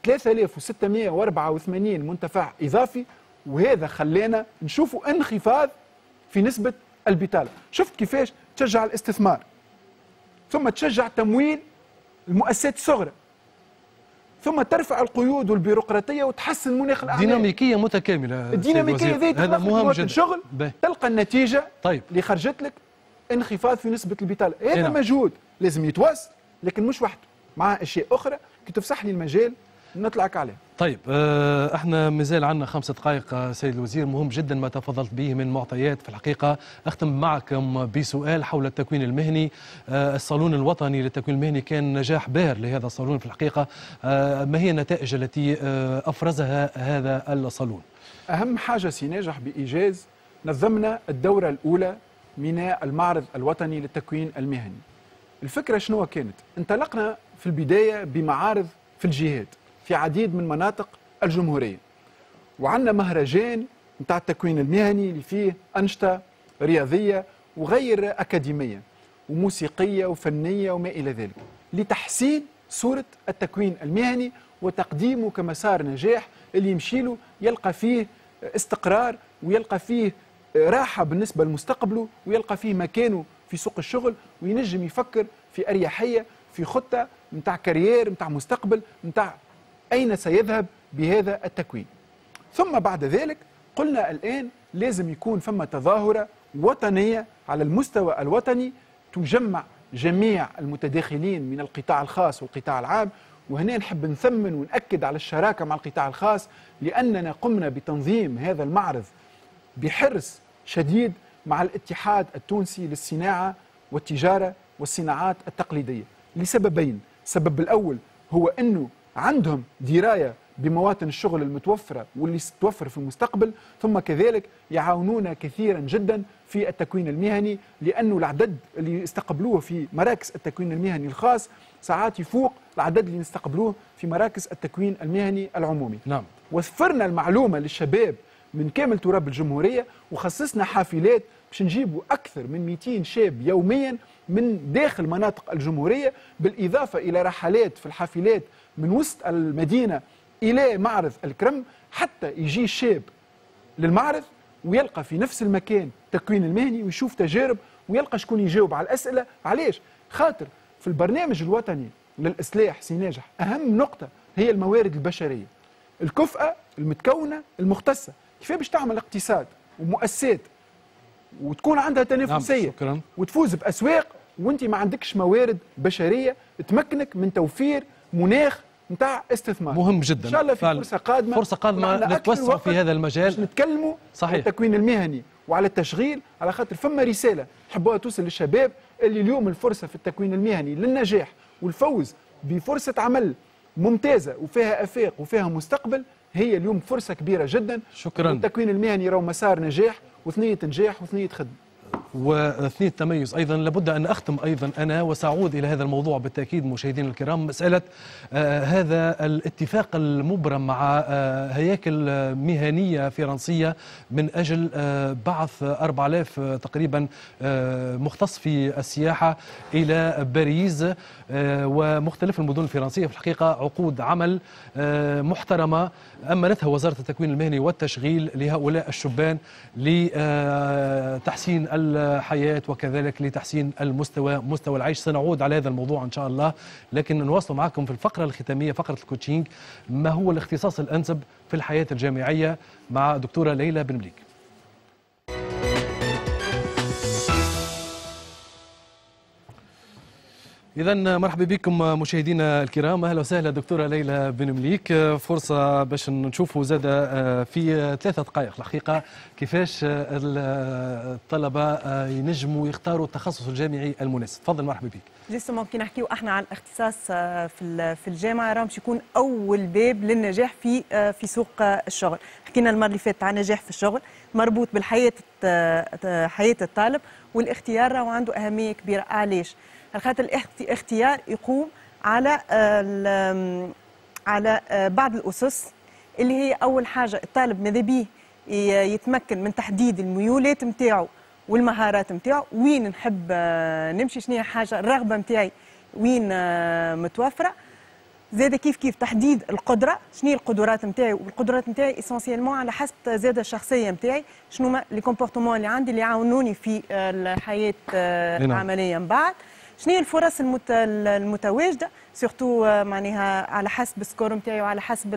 ثلاثة آلاف وستمئة وأربعة وثمانين منتفع إضافي، وهذا خلانا نشوفوا انخفاض في نسبة البطالة. شفت كيفاش تشجع الاستثمار، ثم تشجع تمويل المؤسسات الصغرى، ثم ترفع القيود والبيروقراطية وتحسن مناخ الأعمال. ديناميكية متكاملة. الديناميكية ذي هذا مهم جدا. شغل تلقى النتيجة. طيب. اللي خرجت لك انخفاض في نسبة البطالة. هذا نعم. مجهود لازم يتواصل، لكن مش وحده، مع أشياء أخرى كي تفسح لي المجال نطلعك عليه. طيب احنا مازال عندنا خمس دقائق سيد الوزير، مهم جدا ما تفضلت به من معطيات في الحقيقة. اختم معكم بسؤال حول التكوين المهني. الصالون الوطني للتكوين المهني كان نجاح باهر لهذا الصالون في الحقيقة، ما هي النتائج التي افرزها هذا الصالون؟ اهم حاجة سي ناجح بإيجاز، نظمنا الدورة الأولى من المعرض الوطني للتكوين المهني. الفكرة شنو كانت؟ انطلقنا في البداية بمعارض في الجهات في عديد من مناطق الجمهورية، وعندنا مهرجان نتاع التكوين المهني اللي فيه أنشطة رياضية وغير أكاديمية وموسيقية وفنية وما إلى ذلك، لتحسين صورة التكوين المهني وتقديمه كمسار نجاح اللي يمشي له يلقى فيه استقرار ويلقى فيه راحة بالنسبة لمستقبله ويلقى فيه مكانه في سوق الشغل، وينجم يفكر في أريحية في خطة نتاع كارير نتاع مستقبل نتاع أين سيذهب بهذا التكوين. ثم بعد ذلك قلنا الآن لازم يكون فما تظاهرة وطنية على المستوى الوطني تجمع جميع المتداخلين من القطاع الخاص والقطاع العام. وهنا نحب نثمن ونأكد على الشراكة مع القطاع الخاص، لأننا قمنا بتنظيم هذا المعرض بحرص شديد مع الاتحاد التونسي للصناعة والتجارة والصناعات التقليدية لسببين. السبب الأول هو أنه عندهم دراية بمواطن الشغل المتوفرة واللي ستوفر في المستقبل، ثم كذلك يعاونونا كثيرا جدا في التكوين المهني، لأنه العدد اللي استقبلوه في مراكز التكوين المهني الخاص ساعات يفوق العدد اللي نستقبلوه في مراكز التكوين المهني العمومي. نعم. وفرنا المعلومة للشباب من كامل تراب الجمهورية، وخصصنا حافلات باش نجيبوا أكثر من مئتين شاب يوميا من داخل مناطق الجمهورية، بالإضافة إلى رحلات في الحافلات من وسط المدينة إلى معرض الكرم، حتى يجي الشاب للمعرض ويلقى في نفس المكان التكوين المهني ويشوف تجارب ويلقى شكون يجاوب على الأسئلة. علاش؟ خاطر في البرنامج الوطني للإصلاح سي ناجح أهم نقطة هي الموارد البشرية، الكفءة المتكونة المختصة. كيف باش تعمل اقتصاد ومؤسسات وتكون عندها تنافسية؟ نعم، وتفوز بأسواق وانت ما عندكش موارد بشرية تمكنك من توفير مناخ نتاع استثمار. مهم جدا. ان شاء الله في فرصة قادمة، فرصة قادمة نتوسع في هذا المجال، نتكلموا صحيح على التكوين المهني وعلى التشغيل، على خاطر فما رسالة نحبوها توصل للشباب اللي اليوم الفرصة في التكوين المهني للنجاح والفوز بفرصه عمل ممتازة وفيها افاق وفيها مستقبل هي اليوم فرصة كبيرة جدا. شكرا. التكوين المهني راهو مسار نجاح وثنية نجاح وثنية خدمة وثنية تميز أيضا. لابد أن أختم أيضا أنا وسأعود إلى هذا الموضوع بالتأكيد مشاهدينا الكرام، مسألة آه هذا الاتفاق المبرم مع آه هياكل مهنية فرنسية من أجل آه بعث أربعة آلاف تقريبا آه مختص في السياحة إلى باريس آه ومختلف المدن الفرنسية. في الحقيقة عقود عمل آه محترمة أمنتها وزارة التكوين المهني والتشغيل لهؤلاء الشبان لتحسين الحياة وكذلك لتحسين المستوى مستوى العيش. سنعود على هذا الموضوع إن شاء الله، لكن نواصل معكم في الفقرة الختامية فقرة ال coaching، ما هو الاختصاص الأنسب في الحياة الجامعية مع دكتورة ليلى بن مليك. إذا مرحبا بكم مشاهدينا الكرام، أهلا وسهلا دكتورة ليلى بن مليك. فرصة باش نشوفوا زاد في ثلاثة دقائق الحقيقة كيفاش الطلبة ينجموا يختاروا التخصص الجامعي المناسب. تفضل مرحبا بك. justement كي نحكيو احنا على الاختصاص في في الجامعة راه باش يكون أول باب للنجاح في في سوق الشغل. حكينا المرة اللي فاتت على النجاح في الشغل مربوط بالحياة حياة الطالب، والاختيار راهو عنده أهمية كبيرة. علاش؟ خاطر الاختيار يقوم على على بعض الأسس اللي هي أول حاجة الطالب ماذا بيه يتمكن من تحديد الميولات نتاعو والمهارات نتاعو، وين نحب نمشي، شنو هي حاجة الرغبة نتاعي وين متوفرة. زاد كيف كيف تحديد القدرة، شنو هي القدرات نتاعي، والقدرات نتاعي essentiellement على حسب زاد الشخصية نتاعي، شنو هما les comportements اللي عندي اللي يعاونوني في الحياة العملية من بعد، شنو هي الفرص المت... المتواجدة surtout معناها على حسب ال score نتاعي وعلى حسب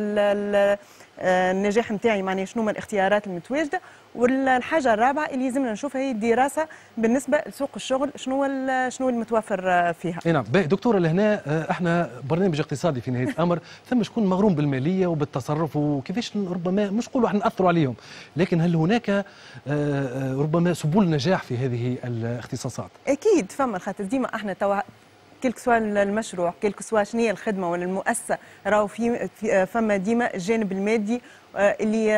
النجاح نتاعي، معناها شنو هما الاختيارات المتواجدة. والحاجة الرابعة اللي لازمنا نشوفها هي الدراسة بالنسبة لسوق الشغل، شنو شنو المتوفر فيها. اي نعم دكتورة، لهنا احنا برنامج اقتصادي في نهاية الامر، ثم شكون مغروم بالماليه وبالتصرف وكيفاش ربما مش نقولوا احنا ناثروا عليهم، لكن هل هناك ربما سبل نجاح في هذه الاختصاصات؟ اكيد فما، خاطر ديما احنا توا quel que soit المشروع، quel que soit شنو هي الخدمة ولا المؤسسة، راهو في فما ديما الجانب المادي اللي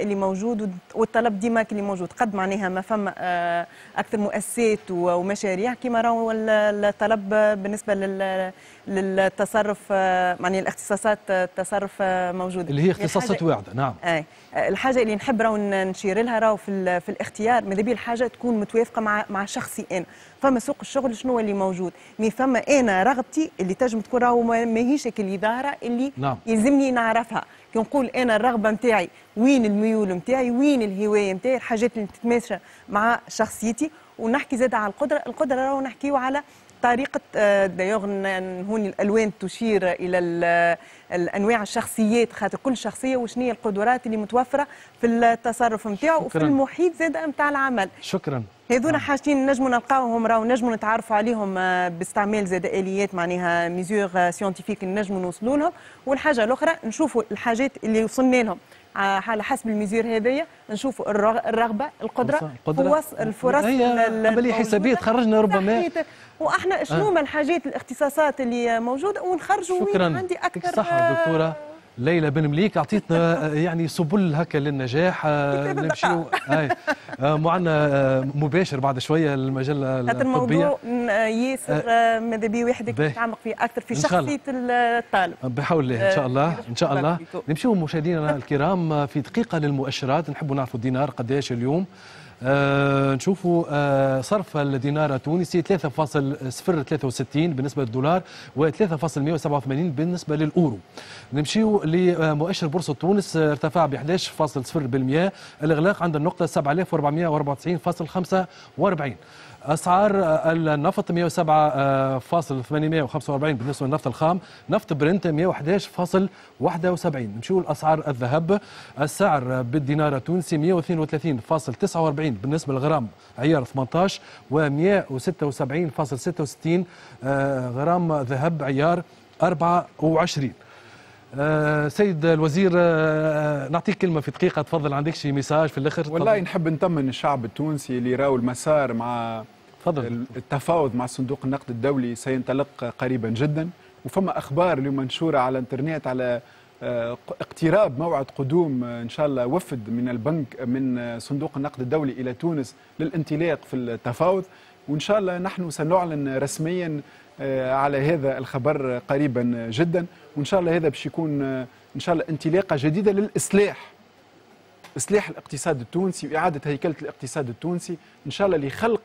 اللي موجود والطلب ديما اللي موجود، قد معناها ما فما اكثر مؤسسات ومشاريع كيما راهو الطلب بالنسبة للتصرف، معناها الاختصاصات التصرف موجودة اللي هي اختصاصات واعده. نعم اي الحاجة اللي نحب راهو نشير لها راهو في في الاختيار، ماذا بيا الحاجة تكون متوافقة مع مع شخصي انا، فما سوق الشغل شنو اللي موجود، mais فما انا رغبتي اللي تنجم تكون راهو ماهيش اللي ظاهره اللي نعم. يلزمني نعرفها. كي نقول انا الرغبة نتاعي وين، الميول نتاعي وين، الهواية نتاعي، الحاجات اللي تتماشى مع شخصيتي. ونحكي زاد على القدرة، القدرة راهو نحكيو على طريقه، d'ailleurs هون الالوان تشير الى الانواع الشخصيات، خاطر كل شخصية وشنو هي القدرات اللي متوفرة في التصرف نتاعو وفي المحيط زاد نتاع العمل. شكرا. هذونا حاجتين نجموا نلقاوهم راهو نجموا نتعرفوا عليهم باستعمال زاد اليات معناها mesures scientifiques نجموا نوصلوا لهم. والحاجة الاخرى نشوفوا الحاجات اللي وصلنا لهم على حسب ال mesure هذيا، نشوفوا الرغبة، القدرة، الفرص، الفرص عملية حسابيه تخرجنا ربما واحنا شنو هما الحاجات الاختصاصات اللي موجودة ونخرجوا وين عندي اكثر. صح دكتورة ليلى بن مليك، اعطيتنا يعني سبل هكا للنجاح. نمشيو معنا مباشر بعد شوية المجلة الطبية. الموضوع ياسر ماذا بيه واحد يتعمق فيه اكثر في شخصية الطالب بحول الله. ان شاء الله ان شاء الله نمشيو مشاهدينا الكرام في دقيقة للمؤشرات. نحبوا نعرفوا الدينار قداش اليوم. آه نشوفوا آه صرف الدينار التونسي ثلاثة فاصل صفر ثلاثة وستين بالنسبة للدولار و ثلاثة فاصل مئة وسبعة وثمانين بالنسبة للأورو. نمشيو لمؤشر بورصة تونس، ارتفع ب أحد عشر فاصل صفر بالمئة، الإغلاق عند النقطة سبعة آلاف وأربعمئة وأربعة وتسعين فاصل خمسة وأربعين. أسعار النفط مئة وسبعة فاصل ثمانمئة وخمسة وأربعين بالنسبة للنفط الخام، نفط برنت مئة وأحد عشر فاصل واحد وسبعين. نمشيو لأسعار الذهب، السعر بالدينار التونسي مئة واثنين وثلاثين فاصل تسعة وأربعين بالنسبة للغرام عيار ثمانية عشر و مئة وستة وسبعين فاصل ستة وستين غرام ذهب عيار أربعة وعشرين. آه سيد الوزير، آه نعطيك كلمة في دقيقة، تفضل، عندك شي message في الآخر؟ والله نحب نطمن الشعب التونسي اللي راو المسار مع تفضل. التفاوض مع صندوق النقد الدولي سينطلق قريبا جدا، وفما أخبار اليوم منشورة على الانترنت على اقتراب موعد قدوم إن شاء الله وفد من البنك من صندوق النقد الدولي إلى تونس للانطلاق في التفاوض، وإن شاء الله نحن سنعلن رسميا على هذا الخبر قريبا جدا، وإن شاء الله هذا باش يكون إن شاء الله انطلاقة جديدة للإصلاح، إصلاح الاقتصاد التونسي وإعادة هيكلة الاقتصاد التونسي إن شاء الله لخلق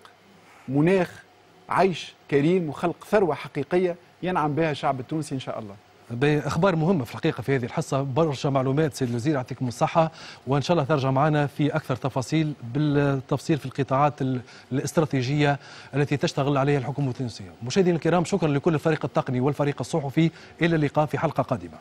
مناخ عيش كريم وخلق ثروة حقيقية ينعم بها الشعب التونسي إن شاء الله. أخبار مهمة في الحقيقة في هذه الحصة، برشا معلومات سيد الوزير، يعطيكم الصحة، وإن شاء الله ترجع معنا في أكثر تفاصيل بالتفصيل في القطاعات الاستراتيجية التي تشتغل عليها الحكومة التونسية. مشاهدينا الكرام، شكرا لكل الفريق التقني والفريق الصحفي، إلى اللقاء في حلقة قادمة.